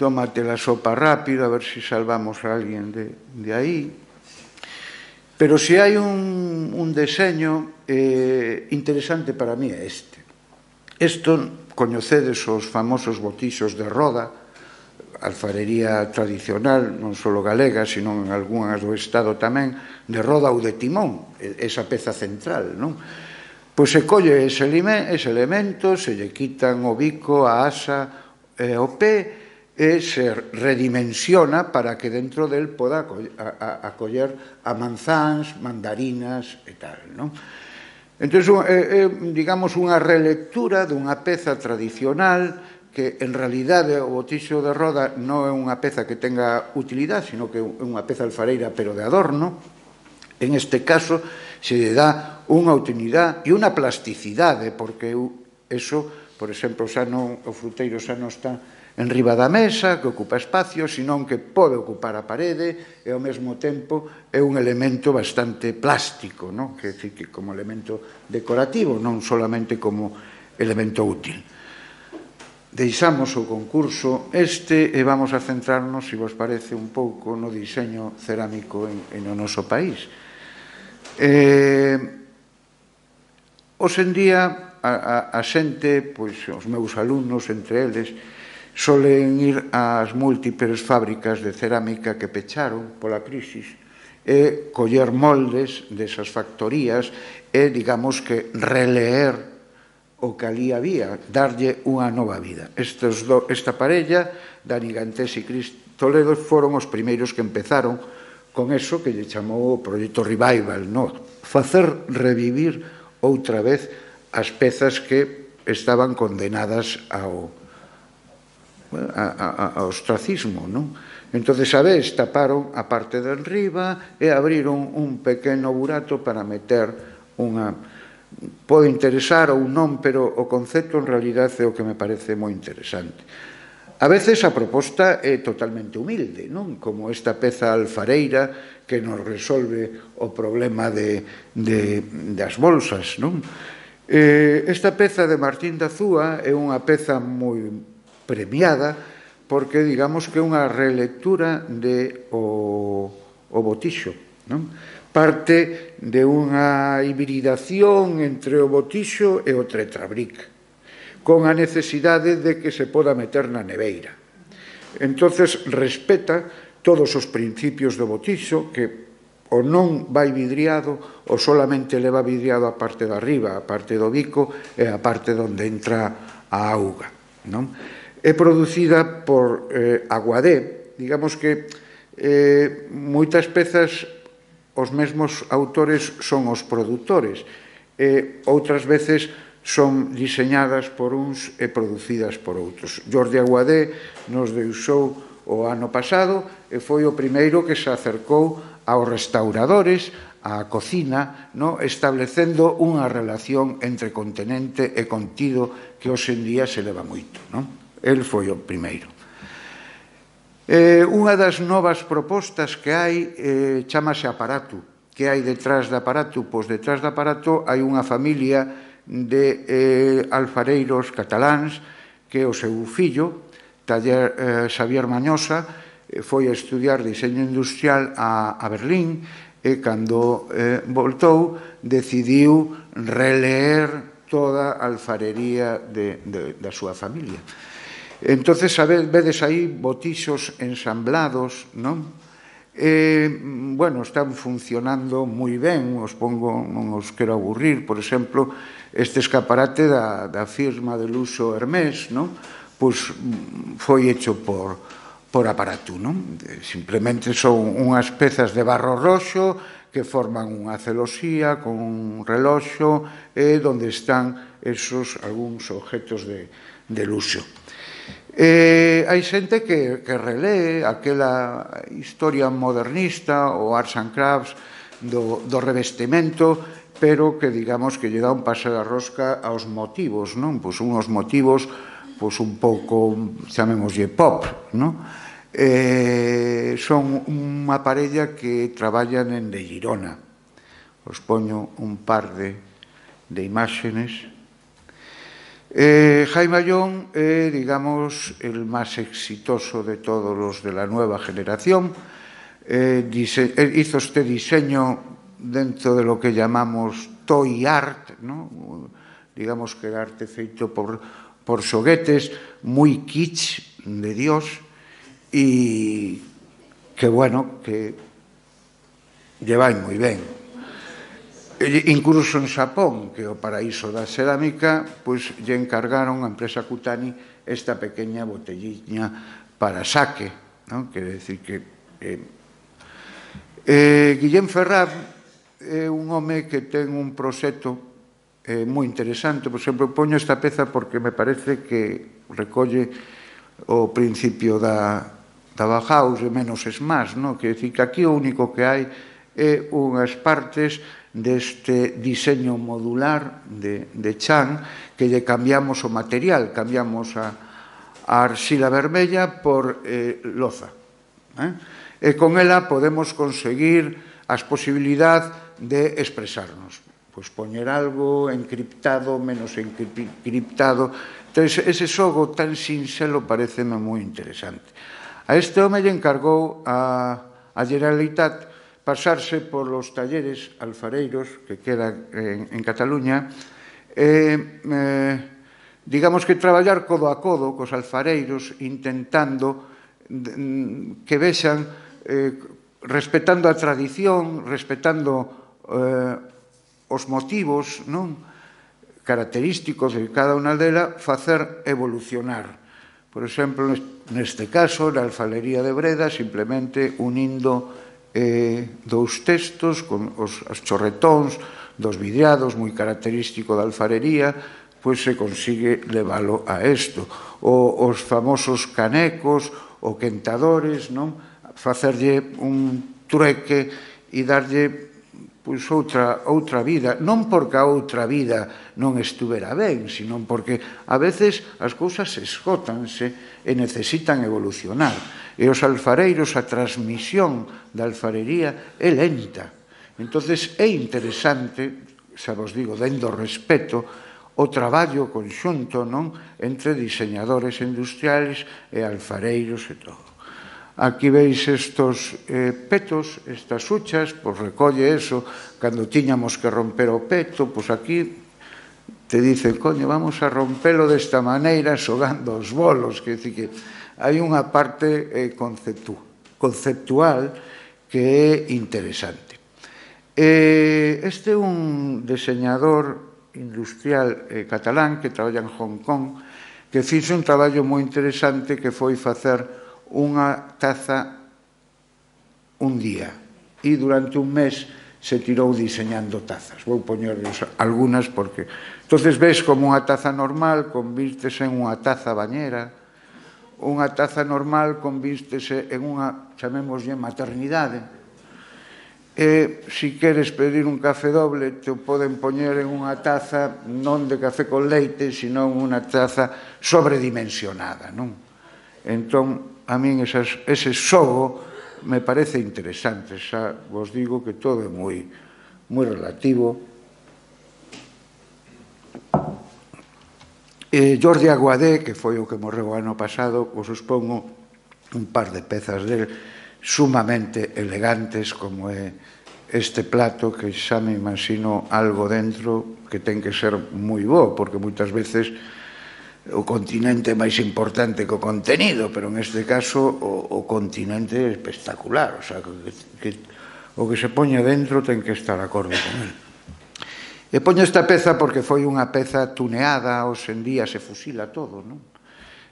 S2: tómate la sopa rápido, a ver si salvamos a alguén de, de aí. Pero si hai un, un deseño eh, interesante para mí é este. Isto, coñecedes os famosos botixos de roda, alfarería tradicional, non só galega, sino en algunhas do Estado tamén, de roda ou de timón, esa peza central, non? Pois se colle ese elemento, se lle quitan o bico, a asa e o pé, e se redimensiona para que dentro del poda acoller a manzáns, mandarinas e tal, non? Entón, é, digamos, unha relectura dunha peza tradicional que, en realidade, o botixo de roda non é unha peza que tenga utilidade, sino que é unha peza alfareira, pero de adorno. En este caso, se lle dá unha utilidade e unha plasticidade, porque eso, por exemplo, xa non, o fruteiro xa non está en riba da mesa, que ocupa espacio, senón que pode ocupar a parede e ao mesmo tempo é un elemento bastante plástico, non? Que, que como elemento decorativo, non solamente como elemento útil. Deixamos o concurso este e vamos a centrarnos, se vos parece, un pouco no diseño cerámico en, en o noso país. Eh, hoxe en día, a, a, a xente, pois, os meus alumnos, entre eles, solen ir ás múltiples fábricas de cerámica que pecharon pola crisis e coller moldes desas factorías e, digamos que, releer o que ali había, darlle unha nova vida. Estes do, esta parella, Dani Gantés e Cris Toledo, foron os primeiros que empezaron con eso que lle chamou o proxecto Revival, no? Facer revivir outra vez as pezas que estaban condenadas ao A, a, a ostracismo, non? Entón, a vez, taparon a parte de enriba e abriron un pequeno burato para meter unha... Pode interesar ou non, pero o concepto en realidad é o que me parece moi interesante. A veces a proposta é totalmente humilde, non? Como esta peza alfareira que nos resolve o problema de, de, das bolsas, non? Eh, esta peza de Martín da Zúa é unha peza moi premiada, porque digamos que é unha relectura de o, o botixo, non? Parte de unha hibridación entre o botixo e o tetrabric, con a necesidade de que se poda meter na neveira. Entonces, respeta todos os principios do botixo, que o non vai vidriado, ou solamente leva vidriado a parte de arriba, a parte do bico e a parte onde entra a auga, non? É producida por eh, Aguadé. Digamos que eh, moitas pezas os mesmos autores son os produtores, e outras veces son diseñadas por uns e producidas por outros. Jordi Aguadé nos deixou o ano pasado e foi o primeiro que se acercou aos restauradores, á cocina, no? Establecendo unha relación entre contenente e contido que hoxe en día se leva moito, non? El foi o primeiro. Eh, unha das novas propostas que hai eh, chamase Aparato. Que hai detrás de Aparato? Pois detrás de Aparato hai unha familia de eh, alfareiros cataláns que o seu fillo, Taller eh, Xavier Mañosa, eh, foi a estudiar diseño industrial a, a Berlín e cando eh, voltou decidiu releer toda a alfarería de, de, da súa familia. Entonces, sabes, vedes aí botixos ensamblados, non? Eh, bueno, están funcionando moi ben, os pongo, non os quero aburrir, por exemplo, este escaparate da, da firma de luxo Hermès, non? Pois foi hecho por, por aparato, non? Simplemente son unhas pezas de barro roxo que forman unha celosía con un reloxo e onde están esos algúns objetos de, de luxo. Eh, hai xente que, que relee aquela historia modernista ou arts and crafts do, do revestimento, pero que digamos que lle dá un paso da rosca aos motivos, non? Pois unhos motivos pois un pouco, chamémoslle pop, non? Eh, son unha parella que traballan en de Girona. Os poño un par de, de imágenes. Eh, Jaime Ayón é, eh, digamos, el máis exitoso de todos os de la nueva generación. Eh, dise, eh, hizo este diseño dentro de lo que llamamos toy art, ¿no? Digamos que arte feito por, por xoguetes, moi kitsch de Dios, e que, bueno, que lle vai moi ben. Incluso en Xapón, que é o paraíso da cerámica, pois lle encargaron a empresa Kutani esta pequeña botelliña para saque, non? Quere decir que eh, eh, Guillén Ferrán é un home que ten un proxecto eh, moi interesante. Por exemplo, poño esta peza porque me parece que recolle o principio da, da Bauhaus, de menos es más, non? Quere decir que aquí o único que hai é unhas partes deste diseño modular de, de Chan, que lle cambiamos o material, cambiamos a, a arxila vermella por eh, loza. Eh? E con ela podemos conseguir as posibilidades de expresarnos. Pois poñer algo encriptado, menos encriptado. Entón, ese xogo tan sinxelo pareceme moi interesante. A este home lle encargou a, a Generalitat pasarse por los talleres alfareiros que quedan en, en Cataluña, eh, eh, digamos que traballar codo a codo cos alfareiros, intentando que vexan, eh, respetando a tradición, respetando eh, os motivos, non, característicos de cada unha delas, facer evolucionar. Por exemplo, neste caso, na alfarería de Breda, simplemente unindo Eh, dous textos con os, os chorretóns dos vidriados, moi característico da alfarería, pois se consigue leválo a isto. O, os famosos canecos, o quentadores, non? Facerlle un trueque e darlle pois outra, outra vida, non porque a outra vida non estuvera ben, sino porque a veces as cousas esgótanse e necesitan evolucionar. E os alfareiros, a transmisión da alfarería é lenta. Entonces é interesante, xa vos digo, dendo respeto, o traballo conxunto, non, entre diseñadores industriales e alfareiros e todo. Aquí veis estos eh, petos, estas huchas, pois recolle eso, cando tiñamos que romper o peto, pois aquí te dicen, coño, vamos a rompelo desta maneira xogando os bolos, que decir que hai unha parte eh, conceptu, conceptual que é interesante. Eh, este é un diseñador industrial eh, catalán que traballa en Hong Kong, que fixo un traballo moi interesante que foi facer unha taza un día e durante un mes se tirou diseñando tazas. Vou poñerles algunhas porque entonces ves como unha taza normal convírtese en unha taza bañera, unha taza normal convírtese en unha, chamémoslle, maternidade. E se queres pedir un café doble, te poden poñer en unha taza non de café con leite, sino unha taza sobredimensionada, non? Entón, a min esas, ese xogo me parece interesante. Xa vos digo que todo é moi, moi relativo. Eh, Jordi Aguadé, que foi o que morreu o ano pasado, vos expongo un par de pezas del sumamente elegantes, como é este plato, que xa me imagino algo dentro que ten que ser moi bo, porque moitas veces o continente é máis importante que o contenido, pero en este caso o, o continente é espectacular, o sea, que, que o que se poña dentro ten que estar acorde con él. E poño esta peza porque foi unha peza tuneada, hoxe en día se fusila todo, non?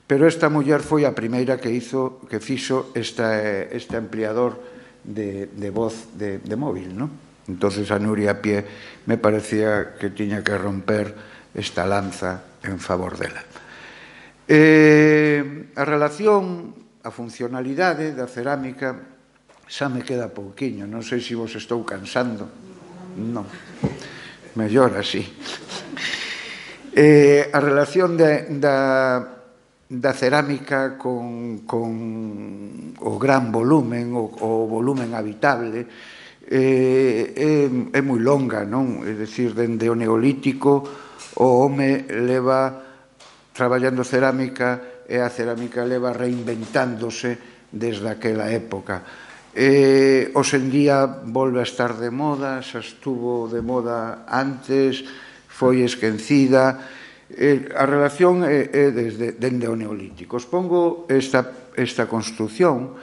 S2: Pero esta muller foi a primeira que hizo, que fixo esta, este ampliador de, de voz de, de móvil, non? Entonces a Nuria Pie me parecía que tiña que romper esta lanza en favor dela. Eh, a relación, a funcionalidade da cerámica xa me queda pouquiño, non sei se vos estou cansando. Non. Mellor así. Eh, a relación de, da, da cerámica con, con o gran volumen, o, o volumen habitable, eh, é, é moi longa, non? É dicir, dende o neolítico o home leva traballando cerámica e a cerámica leva reinventándose desde aquela época. Eh, hoxe en día volve a estar de moda, xa estuvo de moda antes, foi esquecida. Eh, a relación é, é desde, dende o neolítico. Os pongo esta, esta construción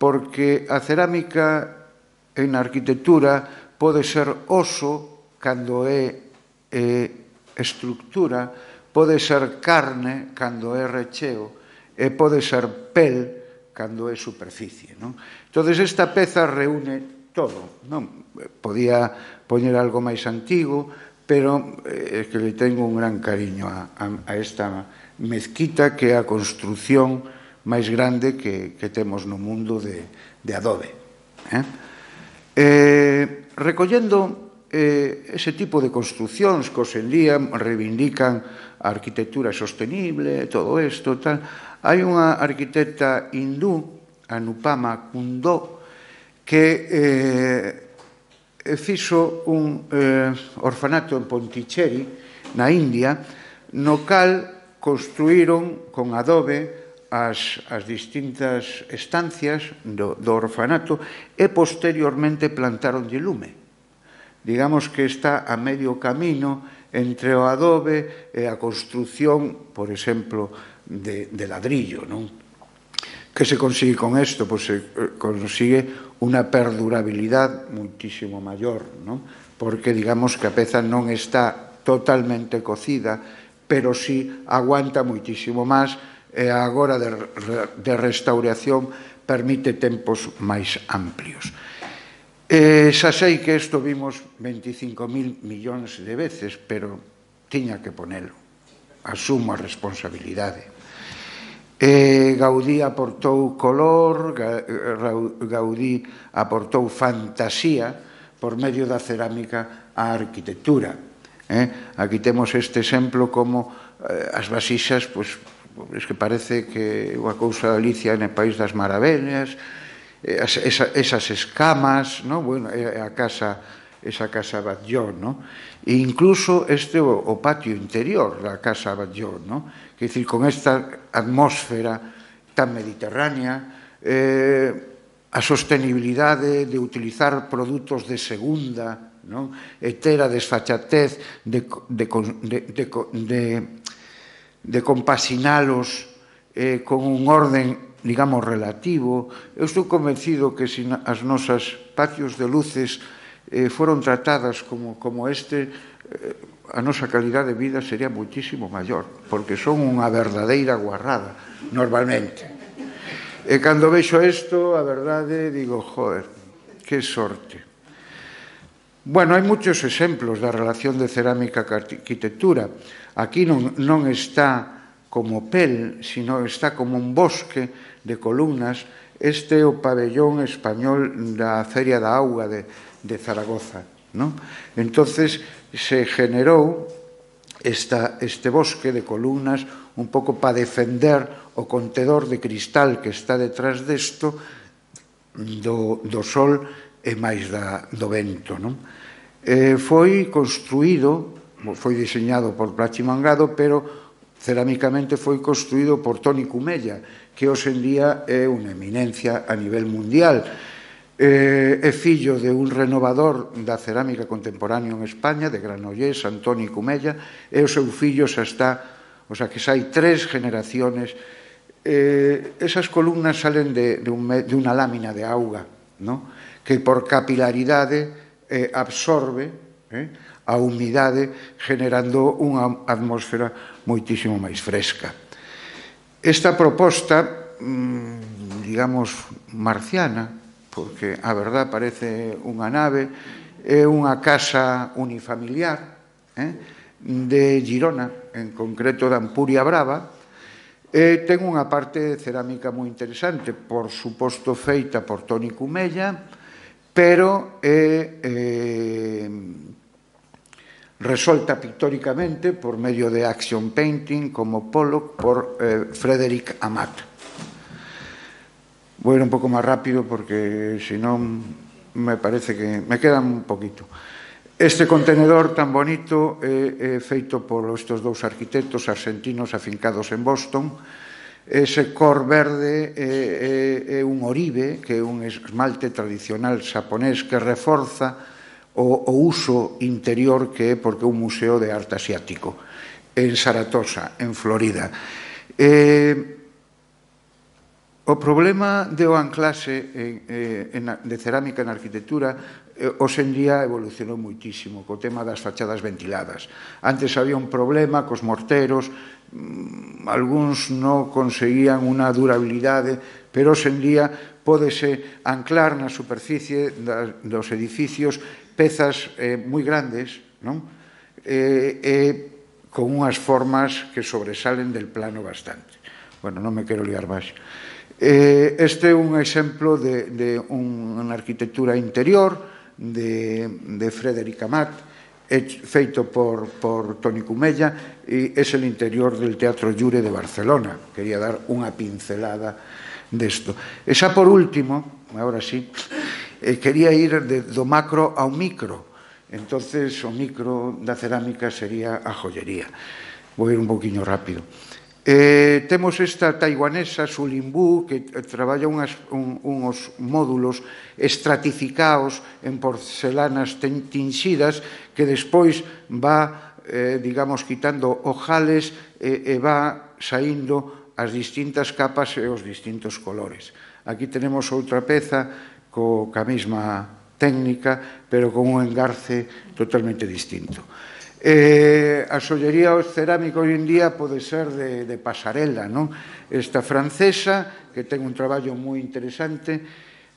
S2: porque a cerámica en arquitectura pode ser oso cando é eh, estructura, pode ser carne cando é recheo e pode ser pel cando é superficie, non? Entón, esta peza reúne todo, non? Podía poñer algo máis antigo, pero é que le tengo un gran cariño a, a, a esta mezquita que é a construción máis grande que, que temos no mundo de, de adobe. Eh? Eh, recollendo eh, ese tipo de construcións que hoxe en día reivindican a arquitectura sostenible, todo isto, tal. Hai unha arquitecta hindú, Anupama Kundó, que eh, fixo un eh, orfanato en Pondicherry, na India, no cal construíron con adobe as, as distintas estancias do, do orfanato e posteriormente plantaron de lume. Digamos que está a medio camino entre o adobe e a construción, por exemplo, De, de ladrillo, non? Que se consigue con isto? Pois se consigue unha perdurabilidade muitísimo maior, non? Porque digamos que a peza non está totalmente cocida, pero sí aguanta muitísimo máis e agora de, de restauración permite tempos máis amplios. Eh, xa sei que isto vimos veinticinco mil millóns de veces, pero tiña que ponelo. Asumo a responsabilidade. Eh, Gaudí aportou color, Gaudí aportou fantasía por medio da cerámica á arquitectura. Eh? Aquí temos este exemplo como eh, as vasixas, pois, es que parece que unha cousa de Alicia no País das Maravillas, eh, as, esa, esas escamas, no? Bueno, a casa, esa casa Batlló, no? E incluso este o, o patio interior da casa Batlló, no? Que dicir, con esta atmósfera tan mediterránea, eh, a sostenibilidade de utilizar produtos de segunda, non? E ter a desfachatez de, de, de, de, de, de compasinalos eh, con un orden, digamos, relativo. Eu estou convencido que se as nosas patios de luces eh, foron tratadas como, como este, eh, a nosa calidade de vida sería muitísimo maior, porque son unha verdadeira guarrada, normalmente. E cando vexo isto, a verdade, digo, joder, que sorte. Bueno, hai moitos exemplos da relación de cerámica ca arquitectura. Aquí non, non está como pel, sino está como un bosque de columnas. Este é o pabellón español da Feria da Auga de, de Zaragoza, ¿no? Entonces se generou esta, este bosque de columnas un pouco para defender o contedor de cristal que está detrás desto do, do sol e máis da, do vento, non? Eh, foi construído, foi diseñado por Plachi Mangado, pero cerámicamente foi construído por Toni Cumella, que hoxe en día é unha eminencia a nivel mundial. É fillo de un renovador da cerámica contemporánea en España, de Granollers, Antoni Cumella, e o seu fillo xa está, o sea, que xa hai tres generaciones. Esas columnas salen de unha lámina de auga, que por capilaridade absorbe a humidade, generando unha atmósfera moitísimo máis fresca. Esta proposta, digamos, marciana, porque a verdad parece unha nave, é unha casa unifamiliar de Girona, en concreto de Ampuria Brava, e ten unha parte cerámica moi interesante, por suposto feita por Toni Cumella, pero é resolta pictóricamente por medio de action painting como Pollock por Frédéric Amat. Vou ir un pouco máis rápido porque senón me parece que me queda un poquito. Este contenedor tan bonito é feito por estes dous arquitectos argentinos afincados en Boston. Ese cor verde é un oribe, que é un esmalte tradicional xaponés que reforza o uso interior que é porque é un museo de arte asiático en Saratoga, en Florida. O problema do anclaxe de cerámica na arquitectura hoxe en día evolucionou moitísimo co tema das fachadas ventiladas. Antes había un problema cos morteros, algúns non conseguían unha durabilidade, pero hoxe en día pódese anclar na superficie dos edificios pezas moi grandes e con unhas formas que sobresalen del plano bastante. Bueno, non me quero liar máis. Este é un exemplo de unha arquitectura interior de Frédéric Amat, feito por Toni Cumella, e é el interior del Teatro Llure de Barcelona. Quería dar unha pincelada desto. E xa por último, agora sí, quería ir do macro ao micro. Entonces o micro da cerámica sería a joyería. Vou ir un poquinho rápido. Temos esta taiwanesa Sulimbu que traballa uns módulos estratificados en porcelanas tinxidas que despois va, digamos, quitando ojales e va saindo as distintas capas e os distintos colores. Aquí tenemos outra peza coa mesma técnica, pero con un engarce totalmente distinto. A xollería cerámica hoxe en día pode ser de pasarela, non? Esta francesa, que ten un traballo moi interesante,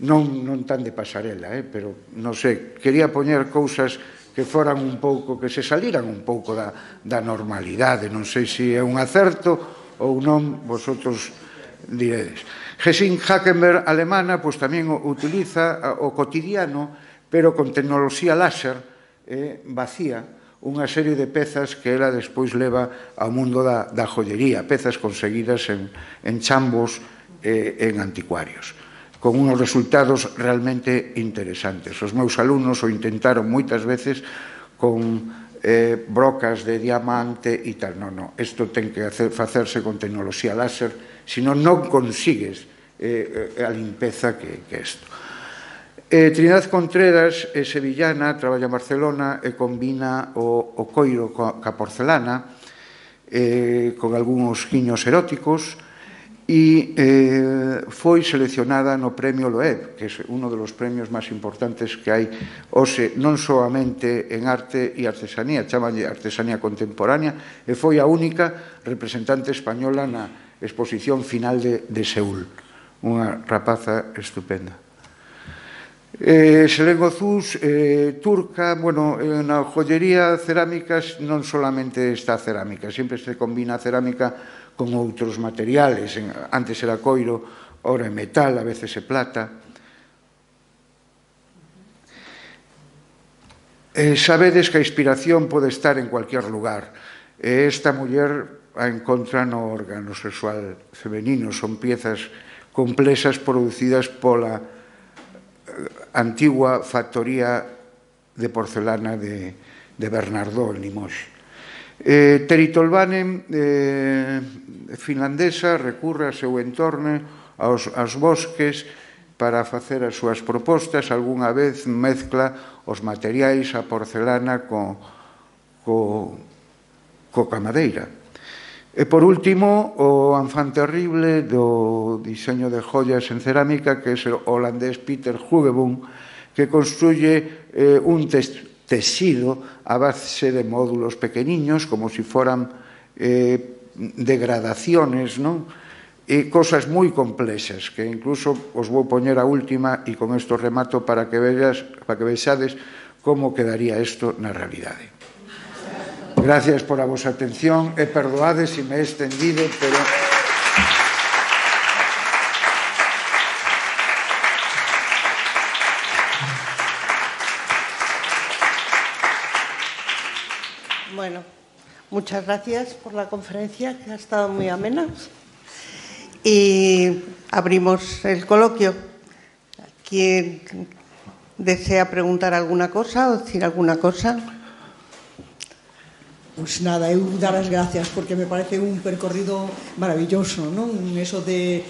S2: non tan de pasarela, pero non sei, quería poñer cousas que foran un pouco, que se saliran un pouco da normalidade, non sei se é un acerto ou non, vosotros diredes. Gesine Hackenberg, alemana, pois tamén utiliza o cotidiano, pero con tecnoloxía láser vacía, unha serie de pezas que ela despois leva ao mundo da joyería, pezas conseguidas en chambos e en anticuarios, con uns resultados realmente interesantes. Os meus alumnos o intentaron moitas veces con brocas de diamante e tal. Non, non, isto ten que facerse con tecnoloxía láser, senón non consigues a limpeza que é isto. Trinidad Contreras é sevillana, traballa en Barcelona e combina o coiro ca porcelana con algúns guiños eróticos e foi seleccionada no Premio Loeb, que é un dos premios máis importantes que hai hoxe non solamente en arte e artesanía, chamanlle artesanía contemporánea, e foi a única representante española na exposición final de Seúl. Unha rapaza estupenda. Selén Ozús, turca, bueno, na joyería cerámica non solamente está cerámica, sempre se combina a cerámica con outros materiales, antes era coiro, ora é metal, a veces é plata. Sabedes que a inspiración pode estar en cualquier lugar, e esta muller a encontra no órgano sexual femenino, son piezas complexas producidas pola antigua factoría de porcelana de Bernardó, en Limoges. Eh, Terry Tolvanen, eh, finlandesa, recurre ao seu entorno, aos, aos bosques, para facer as súas propostas. Algúna vez mezcla os materiais, a porcelana, co, co, coa madeira. E, por último, o enfant terrible do diseño de joyas en cerámica, que é o holandés Peter Huggeboom, que construye eh, un texido a base de módulos pequeniños, como si foran eh, degradaciones, non? E cosas moi complexas, que incluso os vou poñer a última, e con isto remato, para que veas, para que vexades como quedaría isto na realidade. Gracias por a vosa atención e perdoade se me he extendido, pero...
S1: Bueno, muchas gracias por la conferencia, que ha estado muy amena. Y abrimos el coloquio. ¿Quién desea preguntar alguna cosa o decir alguna cosa?
S3: Pois nada, eu dar as gracias porque me parece un percorrido maravilloso, non? Eso de,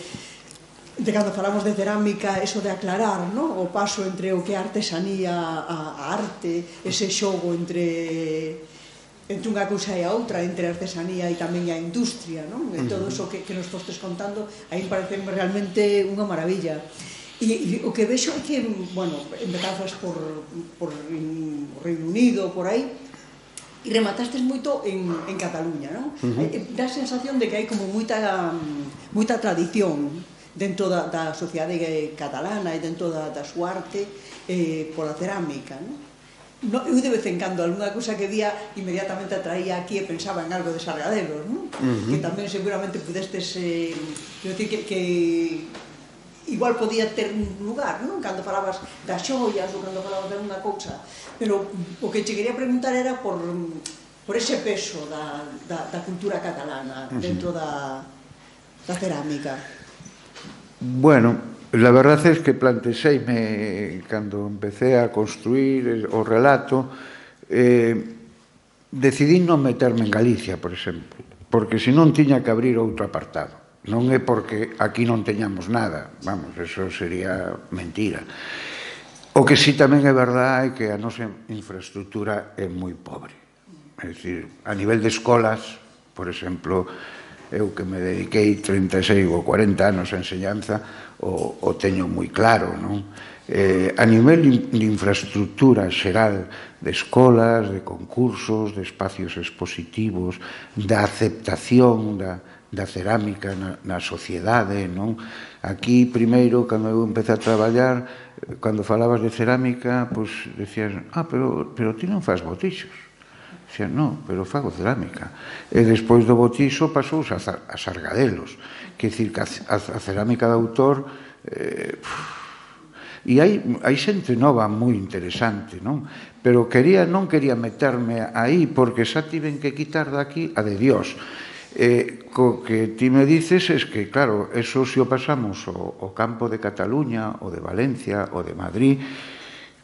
S3: de cando falamos de cerámica, eso de aclarar, non? O paso entre o que é artesanía a, a arte, ese xogo entre entre unha cousa e a outra, entre a artesanía e tamén a industria, non? E todo eso que, que nos fostes contando, aí parece realmente unha maravilla. E, e o que vexo é que, bueno, empezazas por, por Reino Unido, por aí, e rematastes moito en, en Cataluña, non? Uh -huh. Dá a sensación de que hai como moita, moita tradición dentro da, da sociedade catalana e dentro da, da súa arte eh, pola cerámica, non? No, eu de vez en cando algunha cousa que vía inmediatamente atraía aquí e pensaba en algo de Sargadelos, non? Uh -huh. Que tamén seguramente pudestes eh, quero dicir que, que igual podía ter un lugar, non? Cando falabas das xoias ou cando falabas de unha cousa, pero o que che quería preguntar era por, por ese peso da, da, da cultura catalana dentro da, da cerámica.
S2: Bueno, la verdad es que planteseime cando empecé a construir o relato, eh, decidí non meterme en Galicia, por exemplo, porque senón tiña que abrir outro apartado. Non é porque aquí non teñamos nada, vamos, eso sería mentira. O que sí tamén é verdade é que a nosa infraestructura é moi pobre. É dicir, a nivel de escolas, por exemplo, eu que me dediquei trinta e seis ou cuarenta anos a enseñanza, o, o teño moi claro, non? Eh, a nivel de infraestructura xeral de escolas, de concursos, de espacios expositivos, da aceptación da, da cerámica na, na sociedade, non? Aquí, primeiro, cando eu empecé a traballar, cando falabas de cerámica, pois decías, ah, pero, pero ti non faz botixos. Dicían, non, pero fago cerámica. E despois do botixo pasouse a, a Sargadelos. Quer dicir que a, a, a cerámica de autor... Eh, e hai, hai xente nova moi interesante, non? Pero quería, non quería meterme aí porque xa tiven que quitar daqui a de Dios. Eh, co que ti me dices es que, claro, eso se o pasamos o, o campo de Cataluña, o de Valencia, o de Madrid.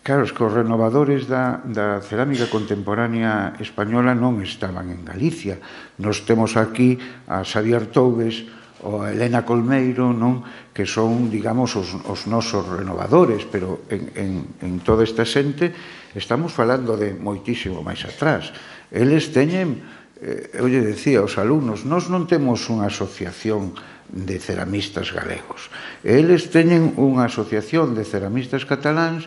S2: Claro, es que os renovadores da, da cerámica contemporánea española non estaban en Galicia. Nos temos aquí a Xavier Toubes ou a Elena Colmeiro, non? Que son, digamos, os, os nosos renovadores, pero en, en, en toda esta xente estamos falando de moitísimo máis atrás. Eles teñen... Eu lle decía aos alumnos, nós non temos unha asociación de ceramistas galegos. Eles teñen unha asociación de ceramistas cataláns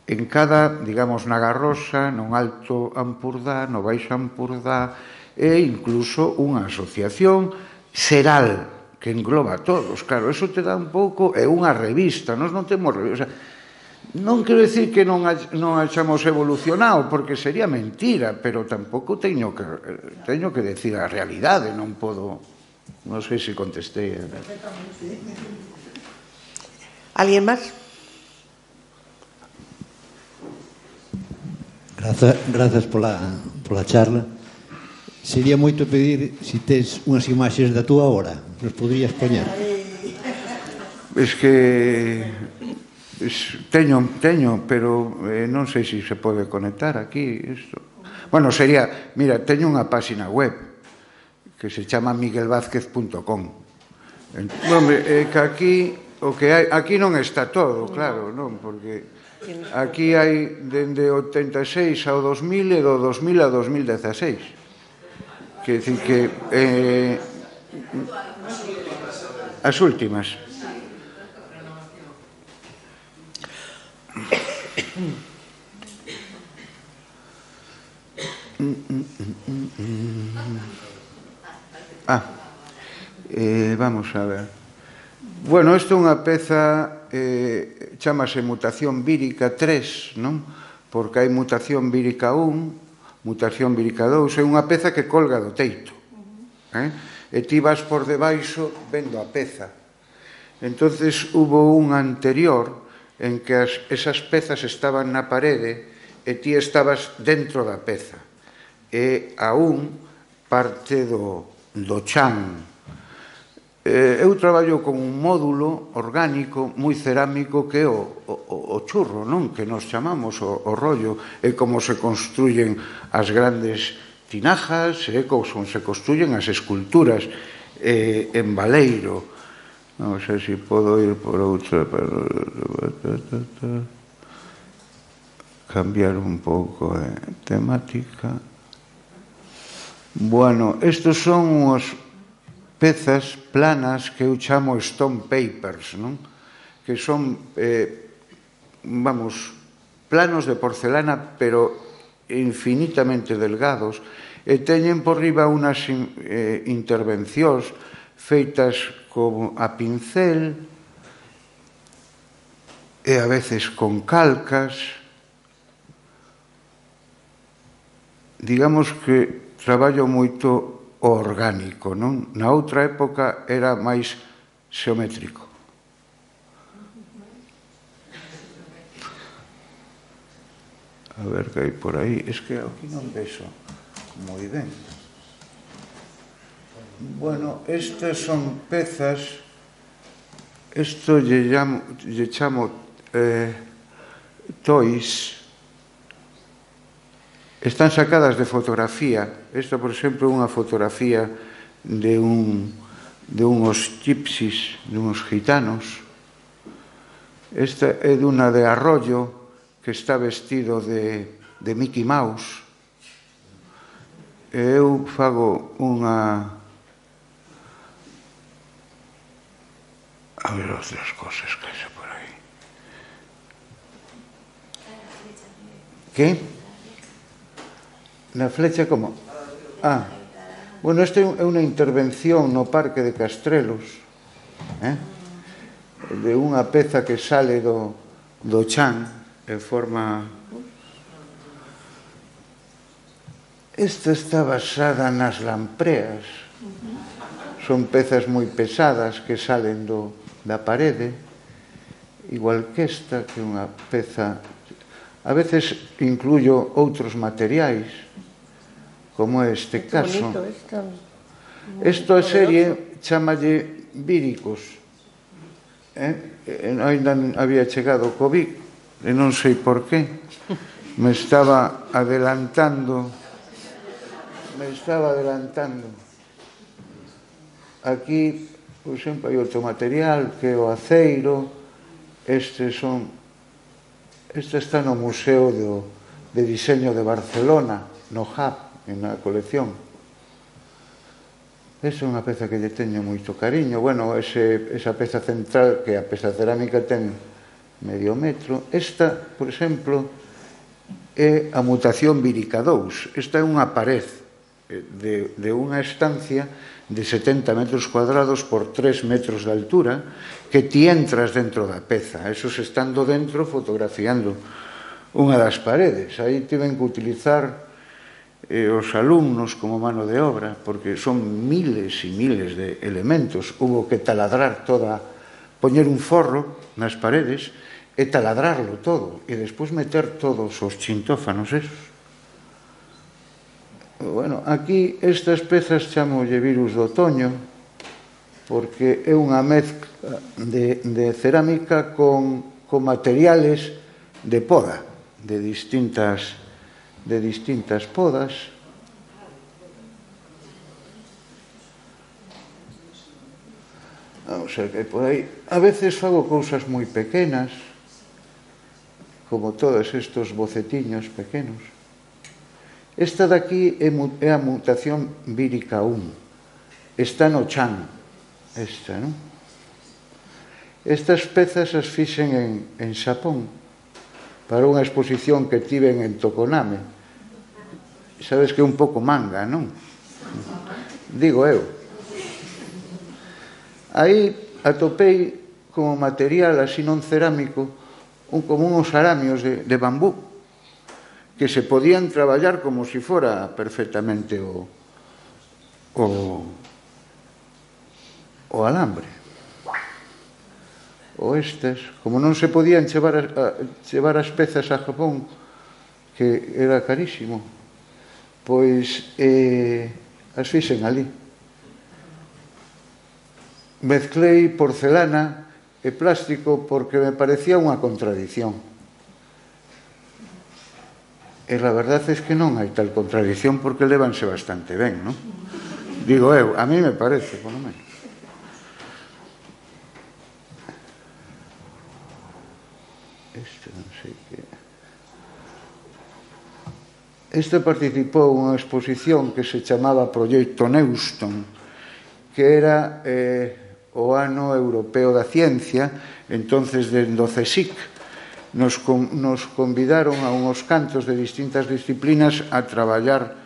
S2: en cada, digamos, na Garrosa, no Alto Ampurdá, no Baixo Ampurdá, e incluso unha asociación xeral que engloba a todos. Claro, eso te dá un pouco, é unha revista, nós non temos revista. Non quero dicir que non hayamos evolucionado, porque sería mentira, pero tampouco teño que teño que decir a realidade, non podo... Non sei se contestei.
S1: Alguén máis?
S4: Grazas, grazas pola, pola charla. Sería moito pedir se tes unhas imaxes da túa obra, nos poderías poñer.
S2: Es que... Teño, teño, pero eh, non sei se se pode conectar aquí isto. Bueno, sería, mira, teño unha páxina web que se chama miguel vázquez punto com. Hombre, é que aquí o que hai, aquí non está todo, claro, non, porque aquí hai dende o oitenta e seis ao dos mil e do dos mil a dos mil dieciséis. Quer dicir que eh, as últimas. Ah, eh, vamos a ver. Bueno, isto é unha peza, eh, chamase mutación vírica tres, non? Porque hai mutación vírica un, mutación vírica dous, é unha peza que colga do teito. Eh? E ti vas por debaixo vendo a peza. Entonces, hubo un anterior en que as, esas pezas estaban na parede e ti estabas dentro da peza. E aún parte do, do chan. Eh, eu traballo con un módulo orgánico moi cerámico que é o, o, o churro, non? Que nos chamamos o, o rollo, é como se construyen as grandes tinajas, é como se construyen as esculturas eh, en Baleiro. Non sei se podo ir por outra para cambiar un pouco de temática. Bueno, estos son os pezas planas que eu chamo stone papers, non? Que son, eh, vamos, planos de porcelana, pero infinitamente delgados, e teñen por riba unhas eh, intervencións feitas como a pincel e a veces con calcas. Digamos que traballo moito o orgánico, non? Na outra época era máis xeométrico. A ver que hai por aí. Es que aquí non vexo moi ben. Bueno, estas son pezas. Isto lle chamo, lle chamo eh, toys. Están sacadas de fotografía. Esta, por exemplo, é unha fotografía de un de unhos gypsies, de uns gitanos. Esta é dunha de Arroyo, que está vestido de, de Mickey Mouse. E eu fago unha... A ver outras cosas que hai por aí. Que? Na flecha como? Ah, bueno, esta é unha intervención no Parque de Castrelos, eh? De unha peza que sale do, do chan en forma... Esta está basada nas lampreas. Son pezas moi pesadas que salen do, da parede, igual que esta, que é unha peza... A veces incluyo outros materiais, como este caso. Esta serie chamalle víricos. Eh? Ainda había chegado o COVID, e non sei por qué. Me estaba adelantando. Me estaba adelantando. Aquí, por exemplo, hai outro material que é o aceiro. Estes son... Esta está no Museo do, de Diseño de Barcelona, no H A B, na colección. Esa é unha peza que lle teño moito cariño. Bueno, ese, esa peza central, que a peza cerámica ten medio metro. Esta, por exemplo, é a mutación vírica dous. Esta é unha pared de, de unha estancia de setenta metros cuadrados por tres metros de altura, que ti entras dentro da peza. Esos estando dentro fotografiando unha das paredes. Aí tiven que utilizar eh, os alumnos como mano de obra, porque son miles e miles de elementos. Hubo que taladrar toda, poñer un forro nas paredes e taladrarlo todo, e despois meter todos os chintófanos esos. Bueno, aquí estas pezas chamolle virus do otoño, porque é unha mezcla de, de cerámica con, con materiales de poda, de distintas de distintas podas. Vamos a ver que por aí. A veces fago cousas moi pequenas, como todos estes bocetiños pequenos. Esta daqui é a mutación vírica un. Está no chan. Esta, non? Estas pezas as fixen en, en Xapón para unha exposición que tiven en Tokoname. Sabes que é un pouco manga, non? Digo eu. Aí atopei como material así non cerámico un, como uns aramios de, de bambú que se podían traballar como se si fora perfectamente o, o, o alambre. O estes, como non se podían chevar, a, chevar as pezas a Japón, que era carísimo, pois eh, as fixen ali. Mezclei porcelana e plástico porque me parecía unha contradición. E a verdade é que non hai tal contradición porque levanse bastante ben, non? Digo eu, a mí me parece, por lo menos. Este non sei que... Este participou unha exposición que se chamaba Proxecto Neuston, que era... Eh, o ano europeo da ciencia, entonces dende o CSIC nos, nos convidaron a unhos cantos de distintas disciplinas a traballar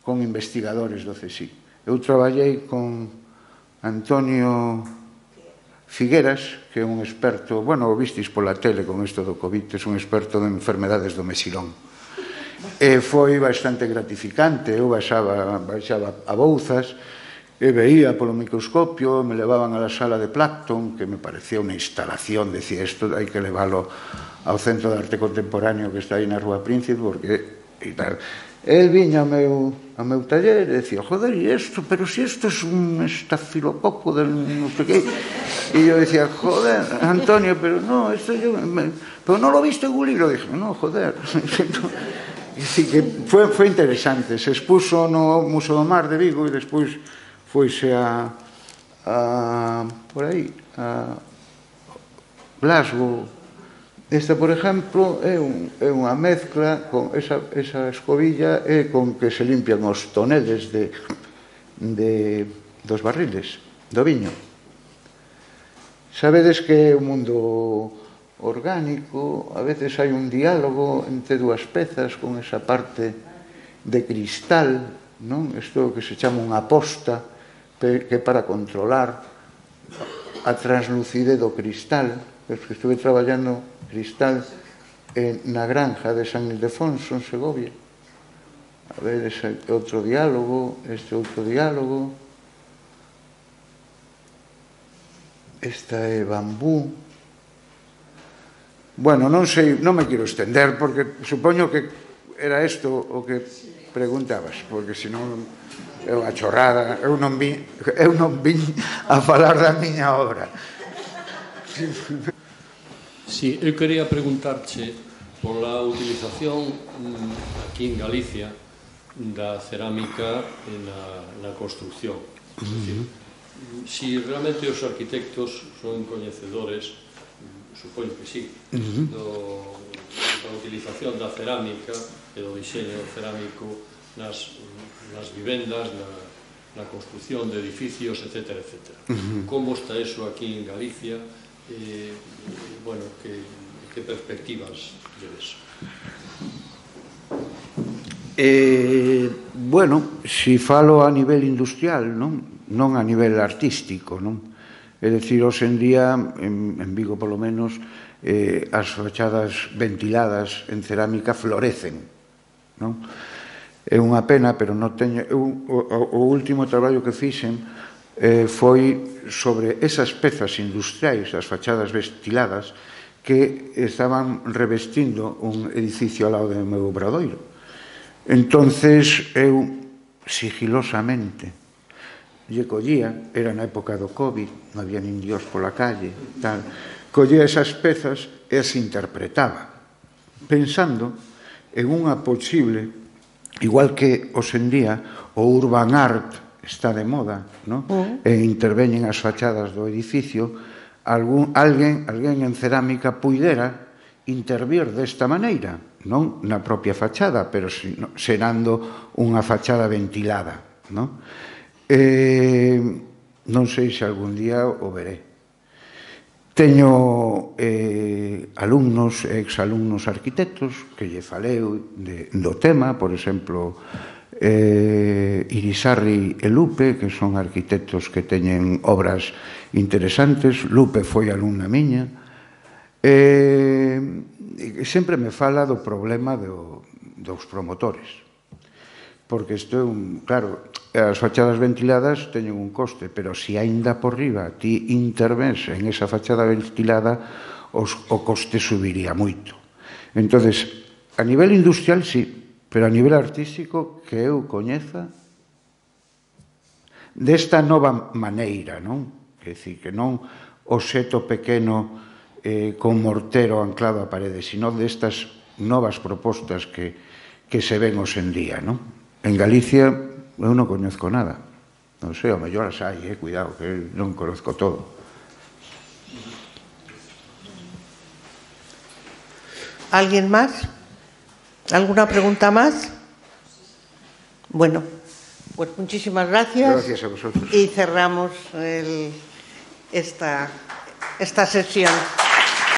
S2: con investigadores do CSIC. Eu traballei con Antonio Figueras, que é un experto, bueno, o vistis pola tele con isto do COVID, é un experto de enfermedades do mexilón. E foi bastante gratificante, eu baixaba, baixaba a Bouzas, e veía polo microscopio, me levaban a la sala de Plancton, que me parecía unha instalación, decía, isto hai que leválo ao Centro de Arte Contemporáneo que está aí na Rúa Príncipe, porque... E tal. El viña ao meu, ao meu taller e decía, joder, e isto, pero si isto é un estafilococo del non sei que... E eu decía, joder, Antonio, pero no, isto yo... Pero non lo viste en un libro? Dije, no, joder... E dicir, que foi, foi interesante, se expuso no Museo do Mar de Vigo e despois foise a, a por aí a Glasgow. Esta, por exemplo, é, un, é unha mezcla con esa, esa escobilla é con que se limpian os toneles de, de, dos barriles do viño. Sabedes que é un mundo orgánico, a veces hai un diálogo entre dúas pezas con esa parte de cristal, non? Isto que se chama unha posta, que é para controlar a translucidez do cristal. Que estuve traballando cristal na granja de San Ildefonso, en Segovia. A ver, ese outro diálogo, este outro diálogo. Esta é bambú. Bueno, non sei, non me quero estender, porque supoño que era isto o que preguntabas, porque senón é unha chorrada, eu non vi, eu non vin a falar da miña obra.
S5: Sí, eu quería preguntarche pola utilización aquí en Galicia da cerámica na, na construcción. Es decir, si realmente os arquitectos son coñecedores, supoño que sí, do, da utilización da cerámica e do diseño cerámico nas, nas vivendas, na, na construcción de edificios, etcétera, etcétera. Como está eso aquí en Galicia? Eh, bueno, que, que perspectivas de eso?
S2: Eh, bueno, si falo a nivel industrial, non, non a nivel artístico, non? É dicir, hoxe en día, en, en Vigo polo menos, eh, as fachadas ventiladas en cerámica florecen, non? É unha pena, pero non teño... Eu, o, o último traballo que fixen eh, foi sobre esas pezas industriais, as fachadas ventiladas, que estaban revestindo un edificio ao lado do meu obradoiro. Entonces, eu, sigilosamente, lle collía, era na época do COVID, non había nin dios pola calle, tal, collía esas pezas e as interpretaba, pensando en unha posible igual que hoxendía o urban art está de moda, non? E interveñen as fachadas do edificio, algún, alguén, alguén en cerámica puidera intervir desta maneira, non na propia fachada, pero serando unha fachada ventilada, non? Eh, non sei se algún día o veré. Teño eh, alumnos e exalumnos arquitectos que lle falei de, do tema, por exemplo, eh, Irisarri e Lupe, que son arquitectos que teñen obras interesantes. Lupe foi alumna miña. Eh, sempre me fala do problema do, dos promotores, porque isto é un... Claro, as fachadas ventiladas teñen un coste, pero se aínda por riba ti intervens en esa fachada ventilada, os, o coste subiría moito. Entonces, a nivel industrial, sí, pero a nivel artístico, que eu coñeza desta nova maneira, non? Quer dicir, que non o seto pequeno eh, con mortero anclado á parede, sino destas novas propostas que, que se ven hoxendía, non? En Galicia eu non coñezco nada. Non sei, ao mellor as hai, eh, cuidado, que non conozco todo.
S1: ¿Alguien más? ¿Alguna pregunta más? Bueno, pues muchísimas gracias.
S2: Gracias a vosotros.
S1: Y cerramos el, esta, esta sesión.